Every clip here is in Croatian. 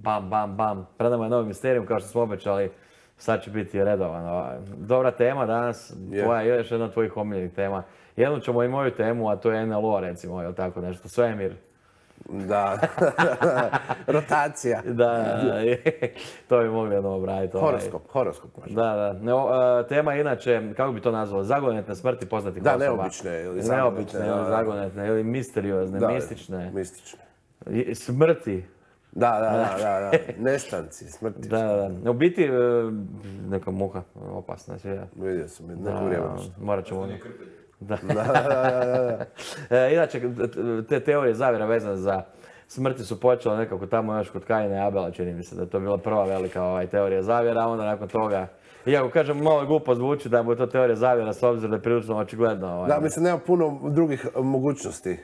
bam, bam, bam. Pred nama je novi Misterijum, kao što smo obećali. Sad će biti redovan. Dobra tema danas, tvoja je još jedna od tvojih omiljenih tema. Jednu ćemo i moju temu, a to je NLO, recimo, ili tako nešto, svemir. Da, rotacija. Da, to bi mogli jedno obraditi. Horoskop možda. Da. Tema je inače, kako bi to nazvalo, zagonetne smrti poznatih osoba. Da, neobične ili zagonetne, ili misteriozne, mistične. Mistične. Smrti. Da. Nestanci, smrti. Da. U biti, neka muha, opasna je. Vidio sam, neku vrijeme. Morat ćemo ono. Da. Inače, te teorije zavjera vezane za smrti su počele nekako tamo još kod Kaina i Abela, čini mi se da je to bila prva velika teorija zavjera, a onda nakon toga, iako kažem malo glupo zvuči da je to teorija zavjera s obzirom da je prilično očigledno. Da, mislim, nema puno drugih mogućnosti.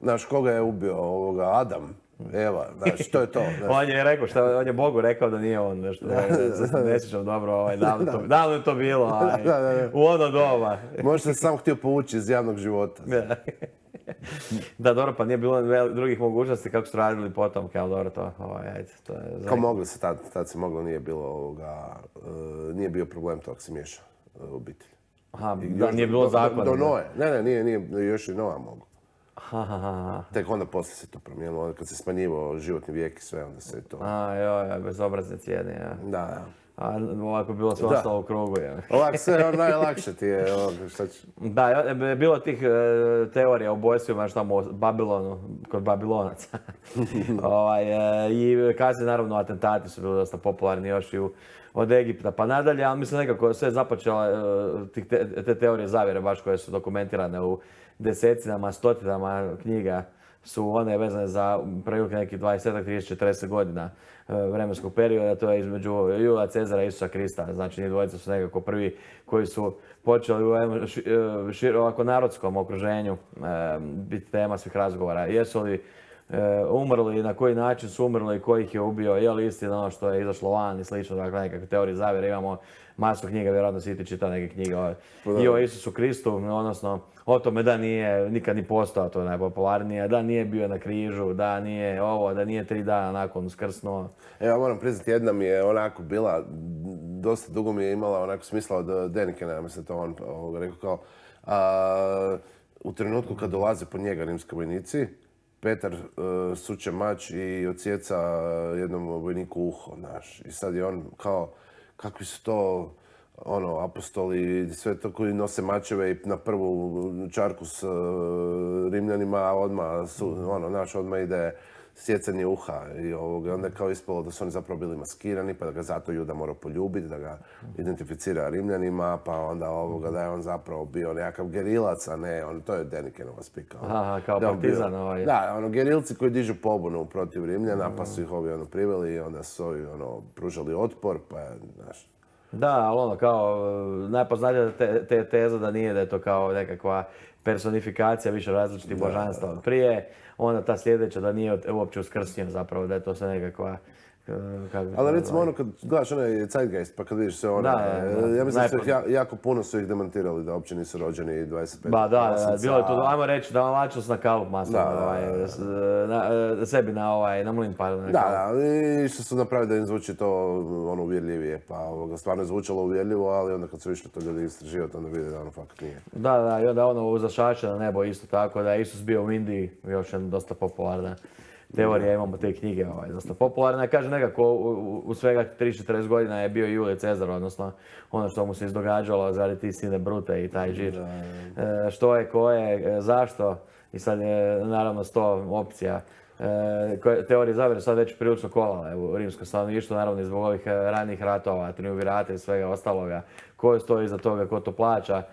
Znaš, koga je ubio Adam? Eva, znaš, to je to. On je rekao, on je Bogu rekao da nije on nešto, ne sjećam dobro, davno je to bilo, u ono doba. Možda se sam htio povući iz javnog života. Da, dobro, pa nije bilo drugih mogućnosti kako su radili potom, kao dobro to, ajde, to je... Kao mogli se, tad se moglo, nije bio problem to ako se miješa obitelj. Aha, da, nije bilo zakona. Do Noe, nije, još i Noa mogu. Tek onda poslije se to promijenilo, kad se smanjivao životni vijek i sve, onda se to... Bezobrazne cijene, ja. Da. A ovako bilo sve ostalo u krugu, ja. Ovako sve najlakše ti je, šta će... Da, bilo tih teorija o ubojstvima, što tamo u Babilonu, kod Babilonaca. I kasnije, naravno, atentati su bili dosta popularni još i od Egipta pa nadalje, ali mislim nekako sve započela te teorije zavjere baš koje su dokumentirane u desetinama, stotinama knjiga su one vezane za prilike nekih 20, 30, 40 godina vremenskog perioda, to je između Julija Cezara i Isusa Krista. Znači, njih dvojica su nekako prvi koji su počeli u ovako narodskom okruženju biti tema svih razgovora. Jesu li umrli, na koji način su umrli, ko ih je ubio, je li istina ono što je izašlo van i slično, dakle nekakve teorije zavjere. Imamo masu knjiga, vjerojatno si ti čitao neke knjige i o Isusu Kristu, odnosno o tome da nije nikad ni postao, to je najpopularnije, da nije bio na križu, da nije ovo, da nije 3 dana nakon uskrsnuo. Evo, moram priznati, jedna mi je onako bila, dosta dugo mi je imala onako smisla od Denikena, mislim to on rekao kao, u trenutku kad dolaze po njega rimski vojnici, Petar suče mač i odsjeca jednom vojniku uho, znaš. I sad je on kao, kakvi su to apostoli, sve to koji nose mačeve i na prvu čarku s Rimljanima, odmah ide sjecanje uha. I onda je kao ispalo da su oni zapravo bili maskirani, pa da ga zato Juda morao poljubiti, da ga identificira Rimljanima, pa onda da je on zapravo bio nekakav gerilac, a ne, to je Denikenova spika. Aha, kao partizan Da, gerilci koji dižu pobunu protiv Rimljana, pa su ih ovi priveli i onda su ovi pružali otpor, pa znaš. Da, ali kao najpoznatija te teza da nije, da je to kao nekakva personifikacija više različitih božanstva od prije, onda ta sljedeća da nije uopće uskrsnjen zapravo, da je to sve nekakva... Ali recimo ono kad gledaš onaj Zeitgeist pa kad vidiš sve ono, ja mislim da jako puno su ih demantirali da uopće nisu rođeni 25. Ba da, bilo je to, ajmo reći da lačilo na kalup masno, sebi na mlin pardon. Da, i što su napravili da im zvuči to uvjerljivije, pa stvarno je zvučalo uvjerljivo, ali onda kad su išli to ljudi istraživati, onda vide da ono fakat nije. Da, i onda uzašače na nebo isto tako, da je Isus bio u Indiji, još jedna dosta popularna teorija, imamo te knjige dosta popularne. Kaže nekako u svega 3-40 godina je bio Julije Cezar, odnosno ono što mu se izdogađalo zaradi ti sine Brute i taj žir. Što je, ko je, zašto? I sad je naravno 100 opcija. Teorije zavjere sad već prilično kolale u rimskom stanovništvu, naravno i zbog ovih ranijih ratova, triumvirata i svega ostaloga. Ko stoji iza toga, ko to plaća?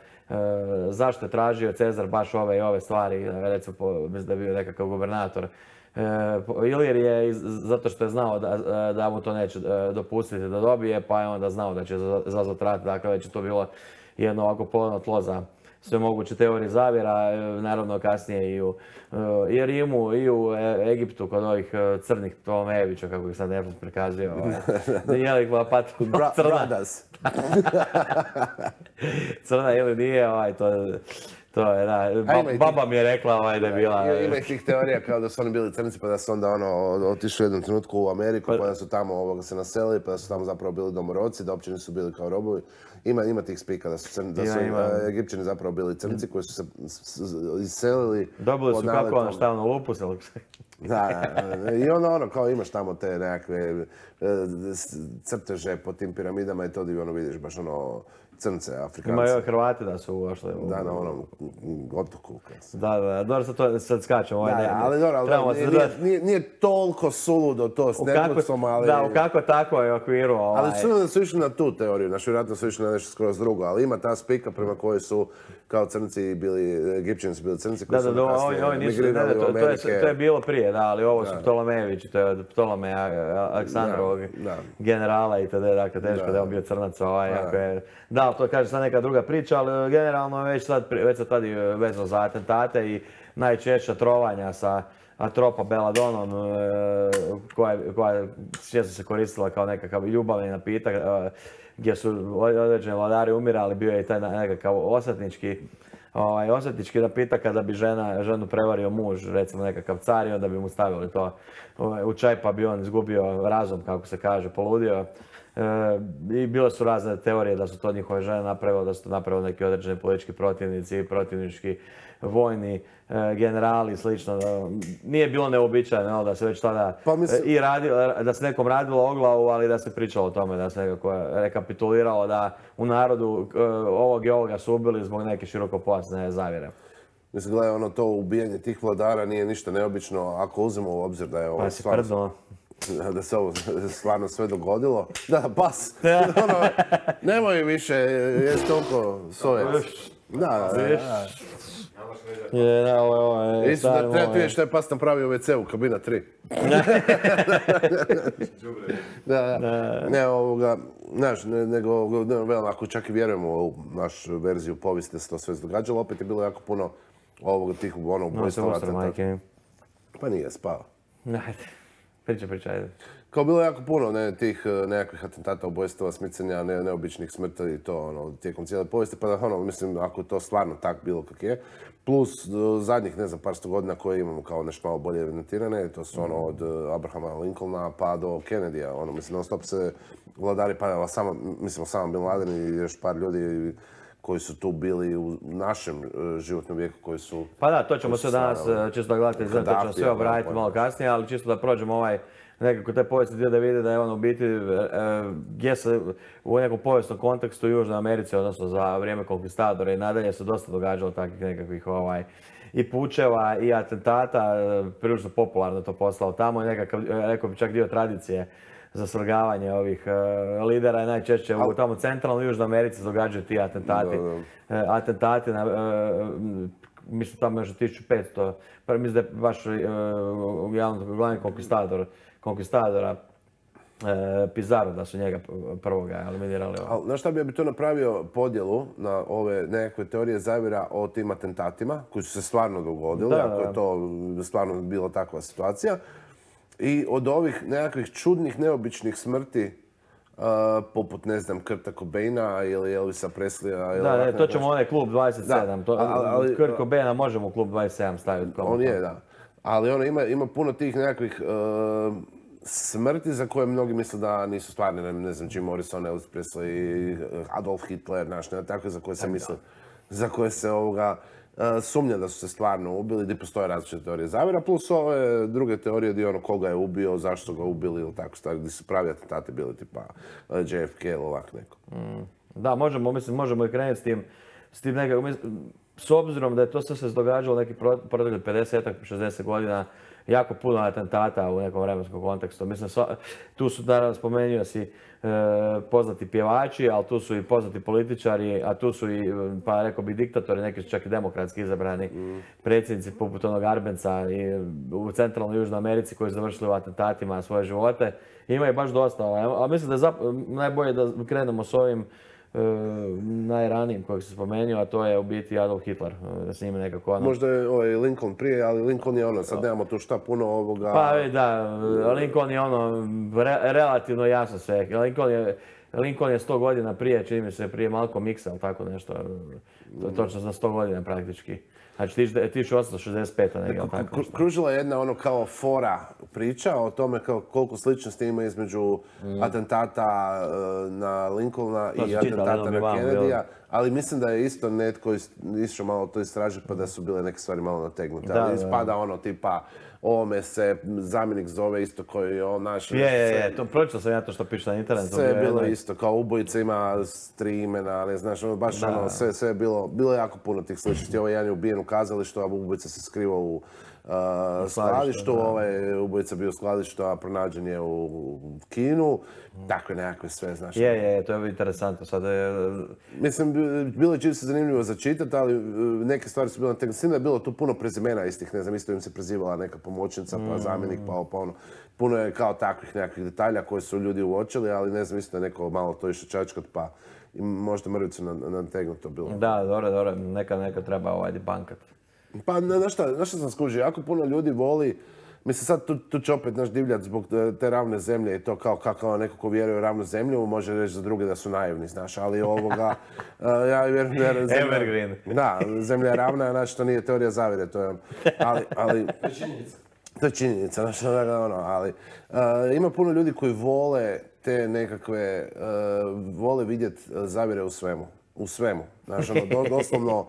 Zašto je tražio Cezar baš ove i ove stvari? Recimo, mislim da je bio nekakav gubernator. Ilir je zato što je znao da mu to neće dopustiti da dobije, pa je onda znao da će izazvati rat, dakle već je to bilo jedno ovako plodno tlo za sve moguće teorije zavjera, naravno kasnije i u Rimu i u Egiptu kod ovih crnih Ptolemejevića, kako ih sad Netflix prikazio. Nije li crna? Bradas. Crna ili nije, To je, da. Baba mi je rekla da je bila... Ima i tih teorija kao da su oni bili crnci pa da su onda otišli u jednom trenutku u Ameriku pa da su tamo se naselili pa da su tamo zapravo bili domorodci, da uopće nisu bili kao robovi. Ima tih spika da su Egipćani zapravo bili crnci koji su se iselili. Dobili su kako šta lupu se. Da, i onda kao imaš tamo te nekakve crteže po tim piramidama i to di vidiš baš crnce, Afrikance. Imaju Hrvati da su ušli. Da, na onom otoku. Da, dobro sad skačemo. Ali dobro, nije toliko suludo to s nekucom, ali... Da, u kako tako je okviru. Ali su da su išli na tu teoriju, vjerojatno su išli na nešto skroz drugo, ali ima ta spika prema kojoj su kao crnci bili, Egipćani su bili crnci koji su kasnije migrirali u Amerike. To je bilo prije, da, ali ovo su Ptolomejevići, to je od Ptolomeja Aleksandrovog generala itd. Dakle, teško da je on bio crnac. Da, to kaže sad neka druga priča, ali generalno već sad tada je vezano za atentate i najčešća trovanja sa atropa beladonom koja često se koristila kao nekakav ljubavni napitak gdje su određeni vladari umirali, bio je i taj nekakav osvetnički napitak kada bi ženu prevario muž, recimo nekakav car i onda bi mu stavili to u čaj pa bi on izgubio razum, kako se kaže, poludio. I bile su razne teorije da su to njihove žene napravile, da su to napravili neki određeni politički protivnici, protivnički vojni generali i slično. Nije bilo neuobičajeno da se već tada da se nekom radilo o glavu, ali da se pričalo o tome, da se nekako rekapituliralo da u narodu ovog i ovoga su ubili zbog neke širokopojasne zavjere. Mislim, gledaj, to ubijanje tih vladara nije ništa neobično ako uzmemo u obzir da je ovo stvarno... Da se ovo stvarno sve dogodilo. Da, pas. Nemoj više, jesi toliko sovjet. Da. Isto da treba vidjeti što je pas napravio u WC-u, kabina 3. Ne, znaš, nego, ako čak i vjerujemo u našu verziju povijesti da se to sve događalo, opet je bilo jako puno tih ubojstava. Pa nije, spava. Priča, ajde. Kao bilo jako puno tih nekakvih atentata, ubojstava, smicanja, neobičnih smrti i to tijekom cijele povijesti, pa da mislim ako to stvarno tak bilo kak je. Plus zadnjih, ne znam, par sto godina koje imamo kao nešto malo bolje evidentirane, to su od Abrahama Lincolna pa do Kennedyja, mislim non stop se vladari pa samo Bin Laden i još par ljudi koji su tu bili u našem životnom vijeku koji su... Pa da, to ćemo sve danas, čisto da gledate, to ćemo sve obraditi malo kasnije, ali čisto da prođemo nekako te povijesni dio da vidi da je on u biti gdje se u nekom povijesnom kontekstu u Južnoj Americi, odnosno za vrijeme konkvistadora i nadalje se dosta događalo takvih nekakvih i pučeva i atentata, prilično popularno to postalo tamo i nekakav, rekao bi čak dio tradicije za svrgavanje ovih lidera i najčešće u tamo centralnoj Južnoj Americi događaju ti atentati. Atentati na, mislim tamo još 1500, pa mislim da je baš glavni konkvistadora Pizarro da su njega prvoga eliminirali. Znaš šta bi to napravio podjelu na ove nekakve teorije zavjera o tim atentatima koji su se stvarno dogodili, ako je to stvarno bila takva situacija. I od ovih nekakvih čudnih, neobičnih smrti, poput, ne znam, Kurta Cobaina ili Elvisa Presleya. Da, to ćemo onaj klub 27. Kurt Cobaina možemo u klub 27 staviti. On je, da. Ali ima puno tih nekakvih smrti za koje mnogi misle da nisu stvarne. Ne znam, Jim Morrison, Elvis Presley, Adolf Hitler, takve za koje se misle. Za koje se sumnja da su se stvarno ubili, gdje postoje različite teorije zavjera, plus ove druge teorije gdje koga je ubio, zašto ga ubili ili tako stvari, gdje su pravi atentati bili tipa JFK ili ovak neko. Da, možemo i krenuti s tim nekako, s obzirom da je to sve se događalo neki proteklih 50-60 godina, jako puno atentata u nekom vremenskom kontekstu. Mislim, tu su, naravno, spomenuo si poznati pjevači, ali tu su i poznati političari, a tu su i, pa rekao bi, diktatori, neki su čak i demokratski izabrani predsjednici poput onog Arbenca u centralnoj Južnoj Americi koji su završili u atentatima svoje živote. Ima je baš dosta, ali mislim da je najbolje da krenemo s ovim najranijim kojeg se spomenuo, a to je u biti Adolf Hitler. S njime nekako Možda je Lincoln prije, ali Lincoln je sad nemamo tu šta puno ovoga... Pa da, Lincoln je relativno jasno sve. Lincoln je Lincoln je 100 godina prije, čini mi se prije Malcolm X-a, ali tako nešto. Točno za 100 godina praktički. Znači 1865. negdje, ali tako nešto. Kružila je jedna ono kao fora priča o tome kao koliko sličnosti ima između atentata na Lincolna i atentata na Kennedyja, ali mislim da je isto netko išao malo to istražiti pa da su bile neke stvari malo nategnute. Ali ispada ono tipa ovome se zamjenik zove isto koji je on naš... To pročitao sam ja to što piše na internetu. Sve je bilo isto, kao ubojica ima 3 imena, ali znaš, ono, baš ono, sve je bilo jako puno tih sličnosti. Ovaj jedan je ubijen u kazalištu, a ubojica se skrivao u skladištu, ovaj ubojica bio u skladištu, a pronađen je u kinu. Takve nekakve sve, znaš. To je interesantno. Sad mislim, bilo je čisto zanimljivo za čitati, ali neke stvari su bile na da je bilo tu puno prezimena istih, ne znam, isto im se prezivala neka pomoćnica, pa zamjenik, pa ono. Puno je kao takvih nekakvih detalja koje su ljudi uočili, ali ne znam, isto je neko malo to išao čačkat, pa možda mrvicu nategnuto bilo. Da, dobro, neka treba debankat. Pa, znaš šta sam skužio, jako puno ljudi voli, mislim sad tu će opet naš divljat zbog te ravne zemlje i to kao neko ko vjeruje u ravnu zemlju, može reći za druge da su naivni, znaš, ali ovoga, ja vjerujem da Evergreen. Da, zemlja je ravna, znači to nije teorija zavjere, to je, ali To je činjenica. To je činjenica, znači, ali ima puno ljudi koji vole te nekakve, vole vidjeti zavjere u svemu. U svemu. Znači, doslovno,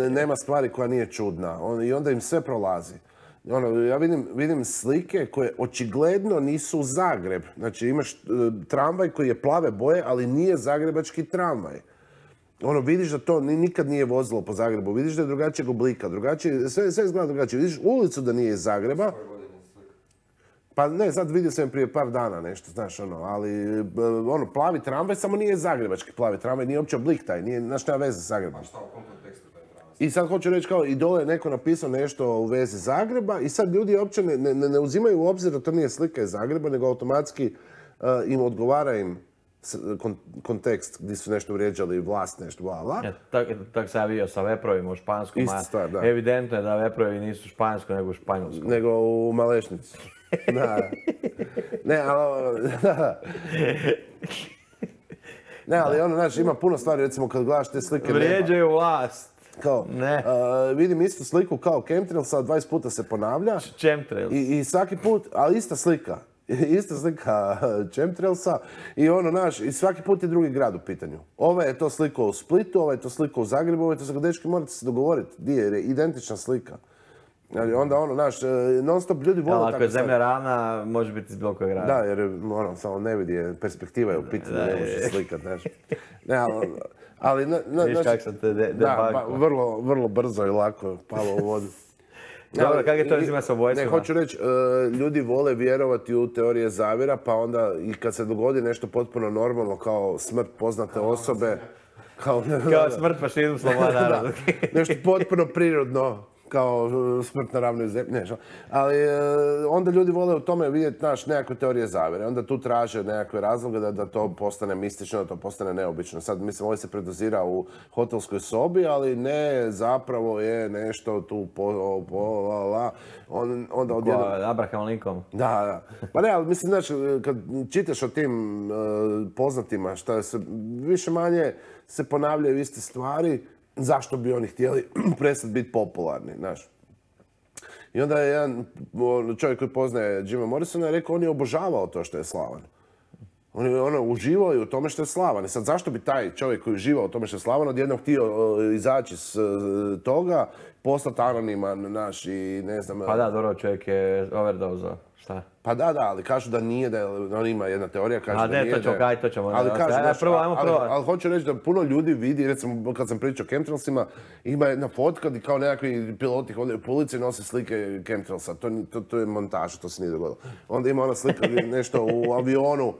nema stvari koja nije čudna. I onda im sve prolazi. Ja vidim slike koje očigledno nisu Zagreb. Znači, imaš tramvaj koji je plave boje, ali nije zagrebački tramvaj. Vidiš da to nikad nije vozilo po Zagrebu, vidiš da je drugačijeg oblika, sve izgleda drugačije. Vidiš ulicu da nije iz Zagreba. Pa ne, sad vidio sam prije par dana nešto, znaš, ali plavi tramvaj samo nije zagrebački plavi tramvaj, nije uopće oblik taj, znaš, nema veze sa Zagrebom. Šta u kom kontekstu taj tramvaj? I sad hoću reći kao i dole je neko napisao nešto u vezi Zagreba i sad ljudi uopće ne uzimaju u obzir da to nije slika iz Zagreba, nego automatski im odgovara im kontekst gdje su nešto vrijeđali vlast, nešto bla bla. Tako sam ja vidio sa veprovima u Španskom. Ista stvar, da. Evidentno je da veprovi nisu u Španjskoj nego u Španjolskom. Nego u Malešnici. Da. Ne, ali... Ne, ali znaš, ima puno stvari, recimo kad gledaš te slike neba. Vrijeđaju vlast. Kao, vidim istu sliku kao chemtrailsa, 20 puta se ponavlja. Chemtrails. I svaki put, ali ista slika. Ista slika chemtrailsa i i svaki put je drugi grad u pitanju. Ova je to slika u Splitu, ova je to slika u Zagrebu, ova je to slika, dečki, morate se dogovoriti gdje je, jer je identična slika. Onda non stop ljudi vole tako. Ako je zemlja ravna, može biti iz bilo kojeg grada. Da, jer samo ne vidi, perspektiva je u pitanju, ne može slikat, znaš. Ne, ali... Viš kak sam te debakao. Da, vrlo brzo i lako palo u vodu. Dobro, kak je to izima sa ubojstvima? Ne, hoću reći, ljudi vole vjerovati u teorije zavjera, pa onda i kad se dogodi nešto potpuno normalno, kao smrt poznate osobe, kao smrt fašizmu slobodna naroda. Nešto potpuno prirodno, kao smrt na ravnoj zemlji, ali onda ljudi vole u tome vidjeti nekakve teorije zavjere. Onda tu traže nekakve razloge da to postane mistično, da to postane neobično. Sad, mislim, ovo se predozira u hotelskoj sobi, ali ne, zapravo je nešto tu onda odjedno... Abraham Lincoln. Da. Pa ne, ali mislim, znači, kad čitaš o tim poznatima, šta se više manje se ponavljaju iste stvari, zašto bi oni htjeli prestati biti popularni, znaš. I onda je jedan čovjek koji poznaje Jima Morrisona rekao on je obožavao to što je slavan. On je uživao i u tome što je slavan. I sad zašto bi taj čovjek koji uživao u tome što je slavan odjednom htio izaći s toga, postati anoniman, naš i ne znam... Pa da, dobro, čovjek je overdozao. Šta? Pa da, ali kažu da nije, da on ima jedna teorija, kaže da nije. To ćemo. Ali kažu, ajmo prvo. Ali hoću reći da puno ljudi vidi, recimo kad sam pričao o chemtrailsima, ima jedna fotka gdje kao nekakvi piloti hodaju po ulici i nose slike chemtrailsa. To je montaža, to se nije dogodilo. Onda ima ona slika gdje nešto u avionu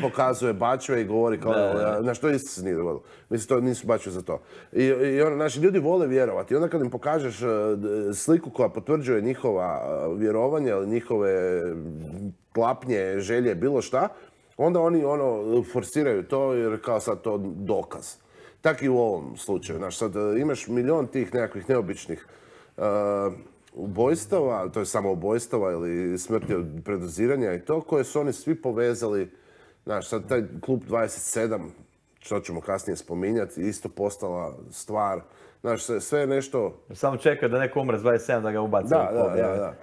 pokazuje bačve i govori kao, znaš, to isto se nije dogodilo. Mislim, to nisu bačve za to. I naši ljudi vole vjerovati. I onda kad im pokažeš sliku koja potvrđuje njihova vjerovanja ili njihove klapnje, želje, bilo šta, onda oni forsiraju to jer kao sad to dokaz. Tako i u ovom slučaju. Znaš, sad imaš milion tih nekakvih neobičnih ubojstava, to je samo ubojstava ili smrti od predoziranja i to, koje su oni svi povezali Znaš, sad taj klub 27, što ćemo kasnije spominjati, isto postala stvar. Znaš, sve je nešto... Samo čekao da neko umre s 27 da ga ubaci u klub. Da.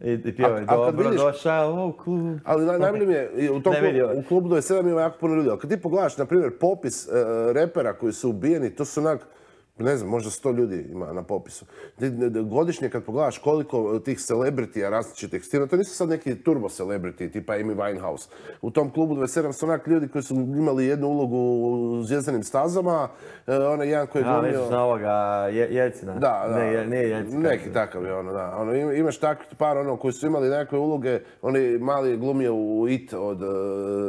I pjevaju, dobro došao u klub. Ali najbolje mi je, u klubu 27 ima jako puno ljudi. Ali kad ti pogledaš, na primjer, popis repera koji su ubijeni, to su onak, ne znam, možda 100 ljudi ima na popisu. Godišnje kad pogledaš koliko tih celebritija različitih stina, to nisu sad neki turbo celebrity tipa Amy Winehouse. U tom klubu 27 su onak ljudi koji su imali jednu ulogu u Zvjezdanim stazama, onaj jedan koji je glumio... misliš na ovoga Jelcina? Da. Nije Jelcina. Neki takav je da. Imaš takvih par koji su imali nekakve uloge, oni mali je glumio u It od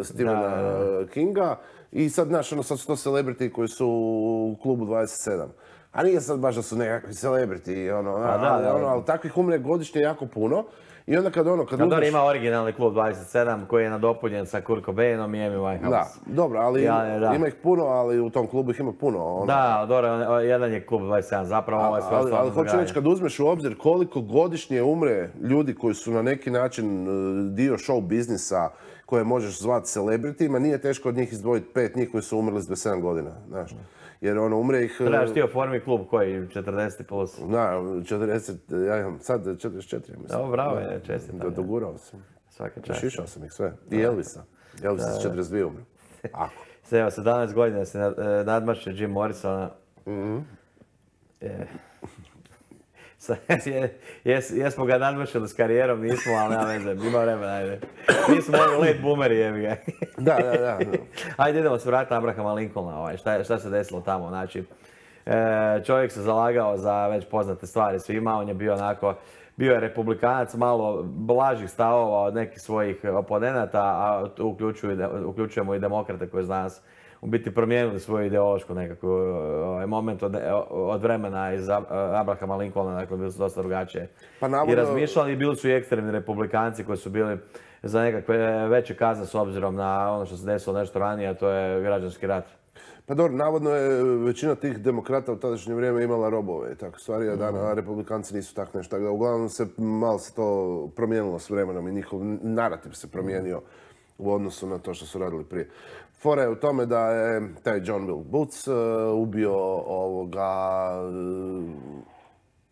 Stephena Kinga. I sad, znaš, sad su to celebrity koji su u klubu 27. A nije sad baš da su nekakvi celebrity, ali takvih umre godišnje jako puno. I onda kad uzmeš... ima originalni klub 27 koji je nadopunjen sa Kurt Cobainom i Amy Winehouse. Da, dobro, ali ima ih puno, ali u tom klubu ih ima puno. Da, dobro, jedan je klub 27, zapravo ovo je sve ostalo. Ali hoću reći, kad uzmeš u obzir koliko godišnje umre ljudi koji su na neki način dio show biznisa, koje možeš zvati celebritima, nije teško od njih izdvojiti 5 njih koji su umrli s 27 godina, znaš. Jer umre ih... Trebaš ti oformi klub koji 40 plus. Da, 40, ja imam sad 44, mislim. Dobro, bravo je, čestitam. Dogurao sam. Svaka čast. Šišao sam ih sve. I Elvisa. Elvisa s 42 umre. Ako. Evo, 17 godina se nadmašio Jim Morrisona. Jesmo ga nadmašili s karijerom, nismo, ali nema veze, ima vremena, ajde. Mi smo late boomeri, jebi ga. Da. Ajde, idemo se vratiti na Abrahama Lincolna, šta se desilo tamo, znači. Čovjek se zalagao za već poznate stvari svima, on je bio je republikanac, malo blažih stavova od nekih svojih oponenata, a tu uključujemo i demokrate koji za nas u biti promijenili svoju ideološku nekakvu moment od vremena iz Abrahama Lincolna, dakle bili su dosta drugačije i razmišljali, i bili su i ekstremni republikanci koji su bili za nekakve veće kazne s obzirom na ono što se desilo nešto ranije, a to je građanski rat. Pa dobro, navodno je većina tih demokrata u tadašnje vrijeme imala robove, tako stvari, a republikanci nisu tako nešto. Uglavnom malo se to promijenilo s vremenom i njihov narativ se promijenio u odnosu na to što su radili prije. Fora je u tome da je taj John Will Booth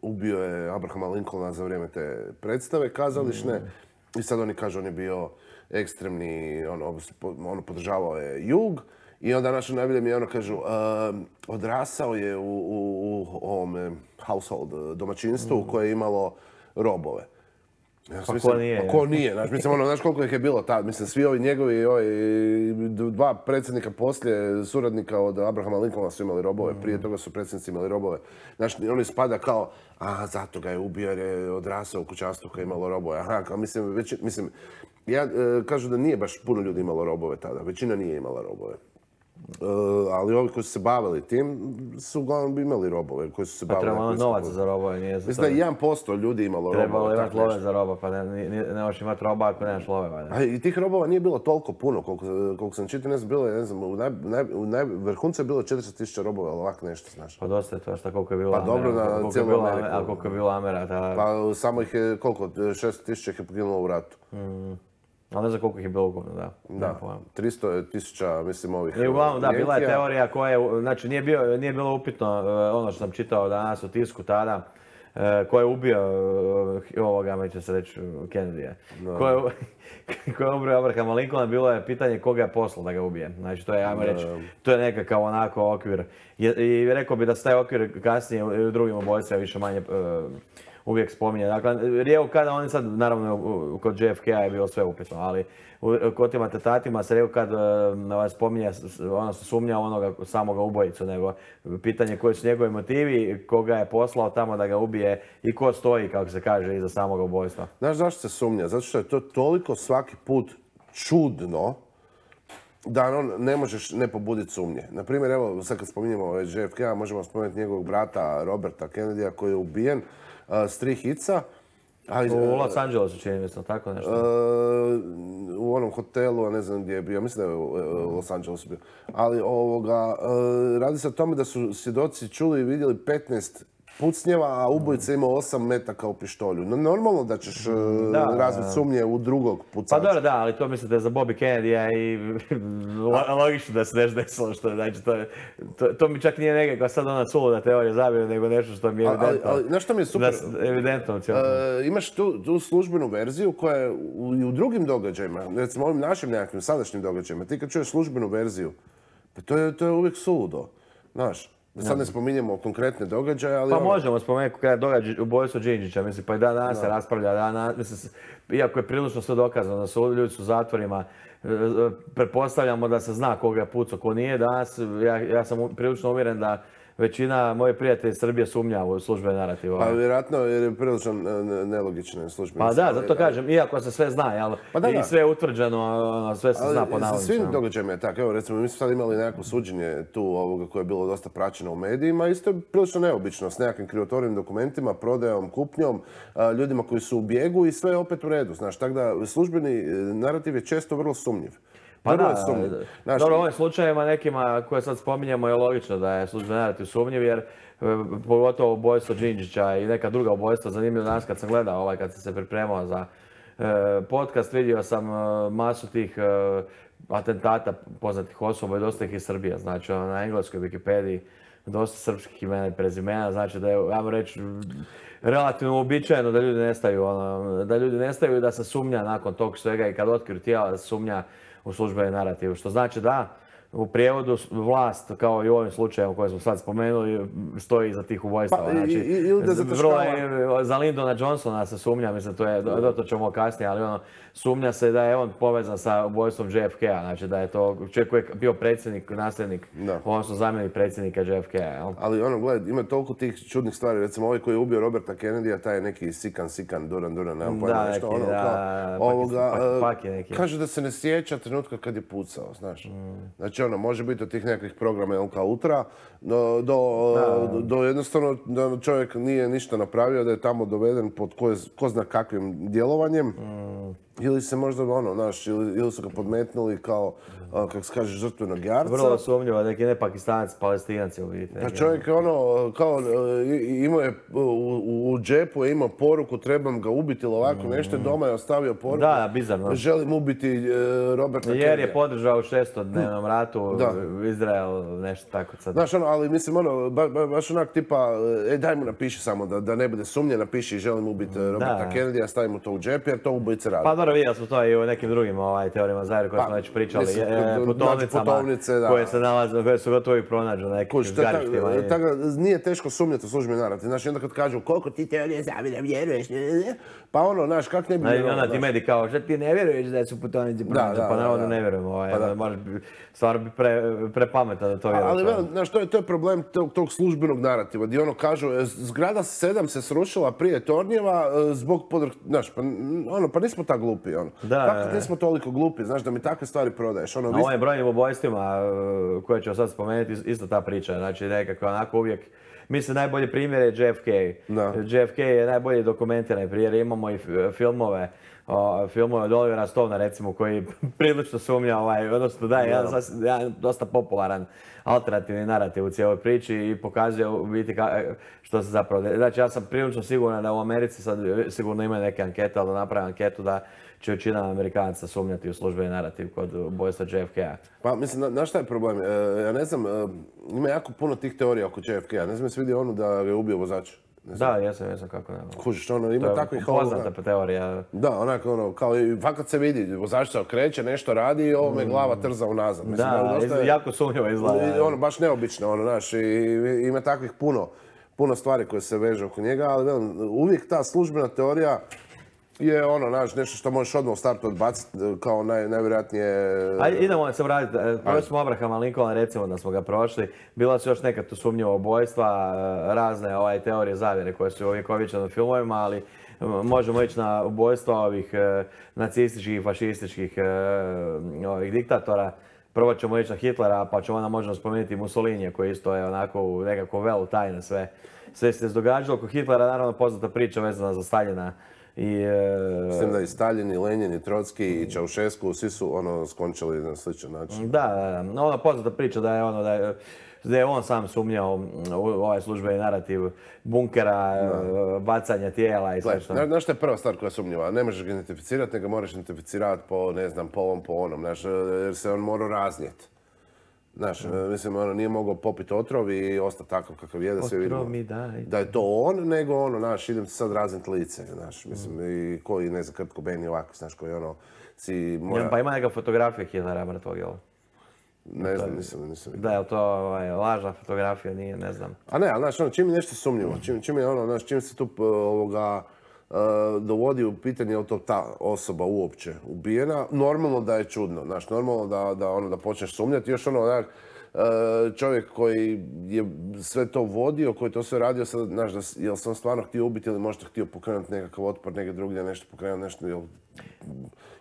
ubio je Abrahama Lincolna za vrijeme te predstave kazališne i sad oni kažu on je bio ekstremni, podržavao je jug. I onda naše najbolje mi kažu, odrasao je u ovome household, domaćinstvu koje je imalo robove. Ko nije? Znaš koliko ih je bilo tad? Mislim, svi ovi njegovi, dva predsjednika poslije, suradnika od Abrahama Lincolna su imali robove. Prije toga su predsjednici imali robove. Znaš, oni spada kao, zato ga je ubio jer je odrasao u kućanstvu koje je imalo robove. Kažu da nije baš puno ljudi imalo robove tada. Većina nije imala robove. Ali ovi koji su se bavili tim su uglavnom imali robove koji su se bavili... Trebalo novaca za robove, nije za to. Mislim da 1% ljudi imalo robove. Trebalo imati love za roba, pa ne možeš imati roba ako nemaš love. I tih robova nije bilo toliko puno, koliko sam čitao, ne znam, bilo je, u vrhuncu je bilo 400.000 robova, ali ovako nešto, znaš. Pa dosta je to, šta koliko je bilo Amera. Pa dobro, na cijelu Ameriku. A koliko je bilo Amera, tada... Pa samo ih je, koliko, 600.000 ih je poginulo u ratu. Ali ne znam koliko ih je bilo ukupno, da. Da, 300.000, mislim, ovih... I uglavnom, da, bila je teorija koja je, znači nije bilo upitno ono što sam čitao danas u tisku tada, ko je ubio ovoga, će se reći, Kennedy-a. Ko je ubio Abrahama Lincolna, bilo je pitanje koga je poslao da ga ubije. Znači, to je, ajmo reći, to je nekakav onako okvir. I rekao bi da se taj okvir kasnije u drugim ubojstvima više manje uvijek spominje. Dakle, rijeku kada oni sad, naravno, kod JFK-a je bilo sve upitno, ali kod tim atentatima se rijeku kad spominje, ono se sumnja onoga samoga ubojicu, nego pitanje koji su njegovi motivi, koga je poslao tamo da ga ubije i ko stoji, kako se kaže, iza samoga ubojstva. Znaš zašto se sumnja? Zato što je to toliko svaki put čudno da ne možeš ne pobuditi sumnje. Naprimjer, evo, sad kad spominjemo JFK-a, možemo spomenuti njegovog brata Roberta Kennedy-a koji je ubijen s 3 hica. U Los Angelesu čini mislim, tako nešto. U onom hotelu, ne znam gdje je bio, mislim da je u Los Angelesu bio. Ali radi se o tome da su svjedoci čuli i vidjeli 15 pucnjeva, a ubojica ima 8 metaka u pištolju. No, normalno da ćeš razviti sumnje u drugog pucača. Pa dobro, da, ali to mislim da je za Bobby Kennedy i logično da se nešto desilo. Znači, to mi čak nije nekakva sad ona suluda teorija zavjere, nego nešto što mi je evidentno. Ali, znaš što mi je super? Evidentno. Imaš tu službenu verziju koja je i u drugim događajima, recimo ovim našim nekakvim sadašnjim događajima, ti kad čuješ službenu verziju, pa to je uvijek suludo, znaš. Sad ne spominjemo konkretne događaje, ali... Pa možemo spomenuti konkretne događaje, ubojstvo Đinđića, mislim, pa i danas se raspravlja, mislim, iako je prilično sve dokazano da su ljudi u zatvorima, pretpostavljamo da se zna koga je pucao, ko nije. Danas, ja sam prilično uvjeren da većina mojih prijatelja iz Srbije sumnja u službene narative. Pa vjerojatno jer je prilično nelogične službene. Pa da, zato kažem, iako se sve zna, jel? I sve je utvrđeno, sve se zna po navodnicima. Svim događajima je tako. Evo recimo, mi smo sad imali nekako suđenje tu ovoga koje je bilo dosta praćeno u medijima. Isto je prilično neobično s nekakvim krivotvorenim dokumentima, prodajom, kupnjom, ljudima koji su u bijegu i sve je opet u redu. Znaš, tako da službeni narativ je često vrlo sumnjiv. Pa da, dobro, u ovim slučajevima nekima koje sad spominjemo je logično da je službeni narativ sumnjiv, jer pogotovo ubojstvo Đinđića i neka druga ubojstva, zanimljivo danas kad sam gledao, kad sam se pripremao za podcast, vidio sam masu tih atentata poznatih osoba i dosta ih iz Srbije, znači na engleskoj Wikipediji dosta srpskih imena i prezimena, znači da je, ajmo reći, relativno uobičajeno da ljudi nestaju i da se sumnja nakon tog svega i kad otkriju tijela da se sumnja u službeni narativ, što znači da u prijevodu vlast, kao i u ovim slučajevima koje smo sad spomenuli, stoji iza tih ubojstava. Za Lyndona Johnsona se sumnja, mislim, to ćemo kasnije, ali sumnja se da je on povezan sa ubojstvom JFK-a, znači da je to čovjek koji je bio predsjednik, nasljednik, odnosno zamjenik predsjednika JFK-a. Ali gledaj, ima toliko tih čudnih stvari, recimo ovaj koji je ubio Roberta Kennedy-a, taj je neki Sikan, Duran, nemam pojma nešto, kaže da se ne sjeća trenutka kad je pucao, znaš. Znači, može biti od tih nekakvih programa LK Ultra, do jednostavno da čovjek nije ništa napravio, da je tamo doveden pod ko zna kakvim djelovanjem. Ili se možda, ili su ga podmetnuli kao, kako se kaže, žrtvenog jarca. Vrlo sumnjivo, neki ne Pakistanac, Palestinac je vidite. Pa čovjek je kao, imao je, u džepu je imao poruku, trebam ga ubiti ili ovako nešto, doma je ostavio poruku. Da, bizarno. Želim ubiti Roberta Kennedy. Jer je podržao u 600-dnevnom ratu Izrael, nešto tako sad. Znaš, ali mislim, baš onak tipa, daj mu napiši samo, da ne bude sumnje, napiši želim ubiti Roberta Kennedy, stavim mu to u džep, jer to ubojice radi. Pa dobro, vidjeli smo to i u nekim drugim teorijama zavjere koje smo već pričali, putovnicama koje su gotovo i pronađu na nekim zgarištima. Nije teško sumnjati u službeni narativ. Znaš, onda kad kažu koliko ti teorije zavjere vjeruješ, pa znaš, kak ne bi vjerovao. Onda ti mediji kao, što ti ne vjeruješ da su putovnici pronađu, pa naravno ne vjerujemo. Stvarno bi prepametan da to vjeruješ. Ali, znaš, to je problem tog službenog narativa, gdje kažu, zgrada 7 se srušila prije tornjeva zbog pa nismo tako glupi, Kako nismo toliko glupi, znaš, da mi takve stvari prodaješ, Na ovim brojnim ubojstvima koje ću sad spomenuti, isto ta priča, znači nekako onako uvijek, mislim, najbolji primjer je JFK. JFK je najbolji dokumentiran primjer, imamo i filmove od Olivera Stonea, recimo, koji prilično sumnja, odnosno daje jedan dosta popularan alternativni narativ u cijeloj priči i pokazuje u biti što se zapravo... Znači, ja sam prilično siguran da u Americi sad sigurno imaju neke ankete, ali da naprave anketu da će većina Amerikanaca sumnjati u službeni narativ kod ubojstva JFK-a. Pa mislim, znaš šta je problem? Ja ne znam, ima jako puno tih teorija oko JFK-a. Ne znam, jesi vidio onu da ga je ubio vozač? Da, jesam kako ne. Kužiš, ima takvih... To je poznata teorija. Da, onako, kao i fakat se vidi, vozač se okreće, nešto radi i ovo me glava trza unazad. Da, jako sumnjivo izgleda. Baš neobično, znaš, i ima takvih puno stvari koje se vežu oko njega, ali uvijek ta službena teorija je nešto što možeš odmah u startu odbaciti kao najvjerojatnije... Ajde, idemo se vratiti. Prošli smo Abrahama Lincolna, recimo da smo ga prošli. Bila su još neka tu sumnjiva ubojstva, razne teorije zavjere koje su uvjekovečene u filmovima, ali možemo ići na ubojstva ovih nacističkih i fašističkih diktatora. Prvo ćemo ići na Hitlera, pa ćemo onda možemo spomenuti Mussolinija koji isto je onako u nekakvom velu tajne sve se događalo. Oko Hitlera naravno poznata priča vezana za Staljina. Mislim da i Stalin, i Lenin, i Trotski, i Čaušesku, svi su skončali na sličan način. Da, ona poznata priča da je da je on sam sumnjao u ovaj službeni narativ bunkera, bacanja tijela i sve što. Znaš šta je prva stvar koja je sumnjiva? Ne možeš ga identificirati, nego moraš identificirati po, ne znam, po ovom, po onom, znaš, jer se on morao raznijeti. Znaš, mislim, ono, nije mogao popiti otrov i ostati takav kakav je, da se vidimo da je to on, nego ono, znaš, idem ti sad razniti lice, znaš, mislim, i koji, ne znam, Kurt Cobain i ovako, znaš, koji ono, si mora... Pa ima neka fotografija Hitlera mrtvog, jel? Ne znam, nisam. Da, je li to lažna fotografija, nije, ne znam. A ne, ali znaš, ono, čim je nešto sumnjivo, čim je ono, znaš, čim se tu dovodi u pitanje je li to ta osoba uopće ubijena, normalno da je čudno, znaš, normalno da počneš sumnjati, još ono, onak, čovjek koji je sve to vodio, koji to sve radio, sad, znaš, je li se on stvarno htio ubiti ili možda htio pokrenuti nekakav otpor negdje drugdje, nešto pokrenuti, nešto, je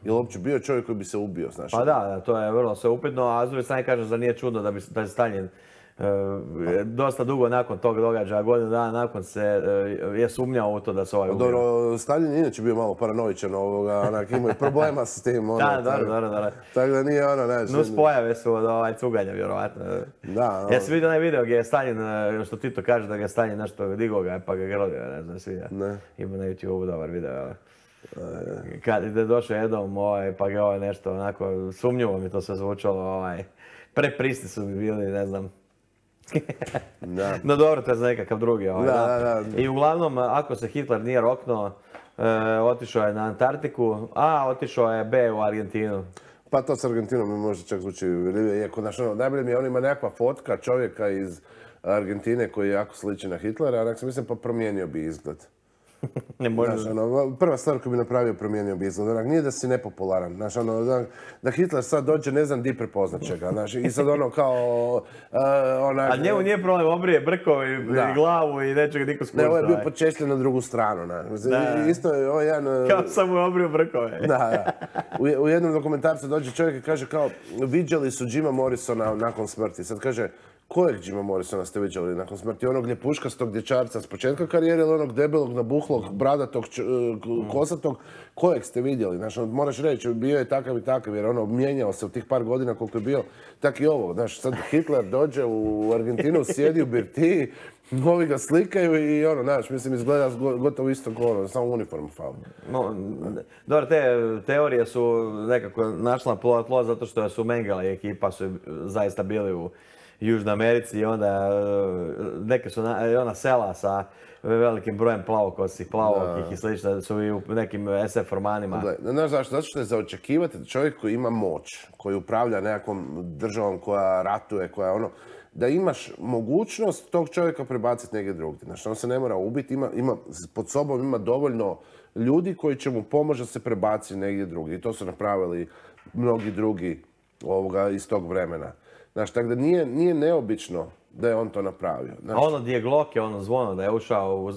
li uopće bio čovjek koji bi se ubio, znaš? Pa da, to je vrlo sve upitno, a s druge strane kažem da nije čudno da je Stalin dosta dugo nakon tog događaja, godinu dana nakon je sumnjao u to da se ovaj ubio. Dobro, Stalin je inače bio malo paranoičan, onak, imao je problema s tim. Da, dobro. Tako da nije ono, znaš... Nus pojave su od cuganja, vjerovatno. Da. Ja sam vidio onaj video gdje je Stalin, što Tito kaže da ga je Stalin nešto digao ga, pa ga grlio, ne znam, svidio. Ima na YouTube dobar video, kad je došao jednom, pa ga nešto onako, sumnjivo mi to sve zvučalo, preprisni su mi bili, ne znam. No dobro, to je za nekakav drugi. Da. I uglavnom, ako se Hitler nije roknuo, otišao je na Antarktiku, a otišao je B u Argentinu. Pa to s Argentinom mi možda čak zvuči uvjerljivije, iako najbolje mi je, on ima nekakva fotka čovjeka iz Argentine koji je jako sliči na Hitlera, onak sam mislim pa promijenio bi izgled. Ne može. Znaš, prva stvar koju bi napravio, promijenio bi izgled. Onak, nije da si nepopularan. Znaš, da Hitler sad dođe, ne znam di prepoznat će ga. Znaš, i sad ono kao... A njemu nije problem, obrije brkove i glavu i neće ga niko spušta. Ne, ovo je bio počešljen na drugu stranu. Isto je ovo jedan... Kao sam mu obrio brkove. Da. U jednom dokumentarcu dođe čovjek i kaže kao, viđali su Jima Morrisona nakon smrti. Sad kaže, kojeg Jima Morrisona ste viđali nakon smrti? Onog ljepuškastog dječarca s početka karijere ili onog debelog, nabuhlog, bradatog, kosatog? Kojeg ste vidjeli? Znaš, moraš reći, bio je takav i takav jer ono mijenjao se u tih par godina koliko je bio. Tak i ovo. Znaš, sad Hitler dođe u Argentinu, sjedi u birtiji, ovi ga slikaju i ono, znaš, mislim, izgleda gotovo isto kao samo uniformu fali. Dobro, te teorije su nekako našla tlo zato što su Mengele i ekipa su zaista bili u Južnoj Americi i onda neke su ona sela sa velikim brojem plavokosih, plavokih i slično su i u nekim SF romanima. Znaš zašto? Zato što je za očekivati da čovjek koji ima moć, koji upravlja nekakvom državom koja ratuje, koja ono, da imaš mogućnost tog čovjeka prebaciti negdje drugdje. Znači, on se ne mora ubiti, pod sobom ima dovoljno ljudi koji će mu pomoći da se prebaci negdje drugdje. I to su napravili mnogi drugi iz tog vremena. Znaš, tako da nije neobično da je on to napravio. A ono gdje je Glock je ono zvono, da je ušao u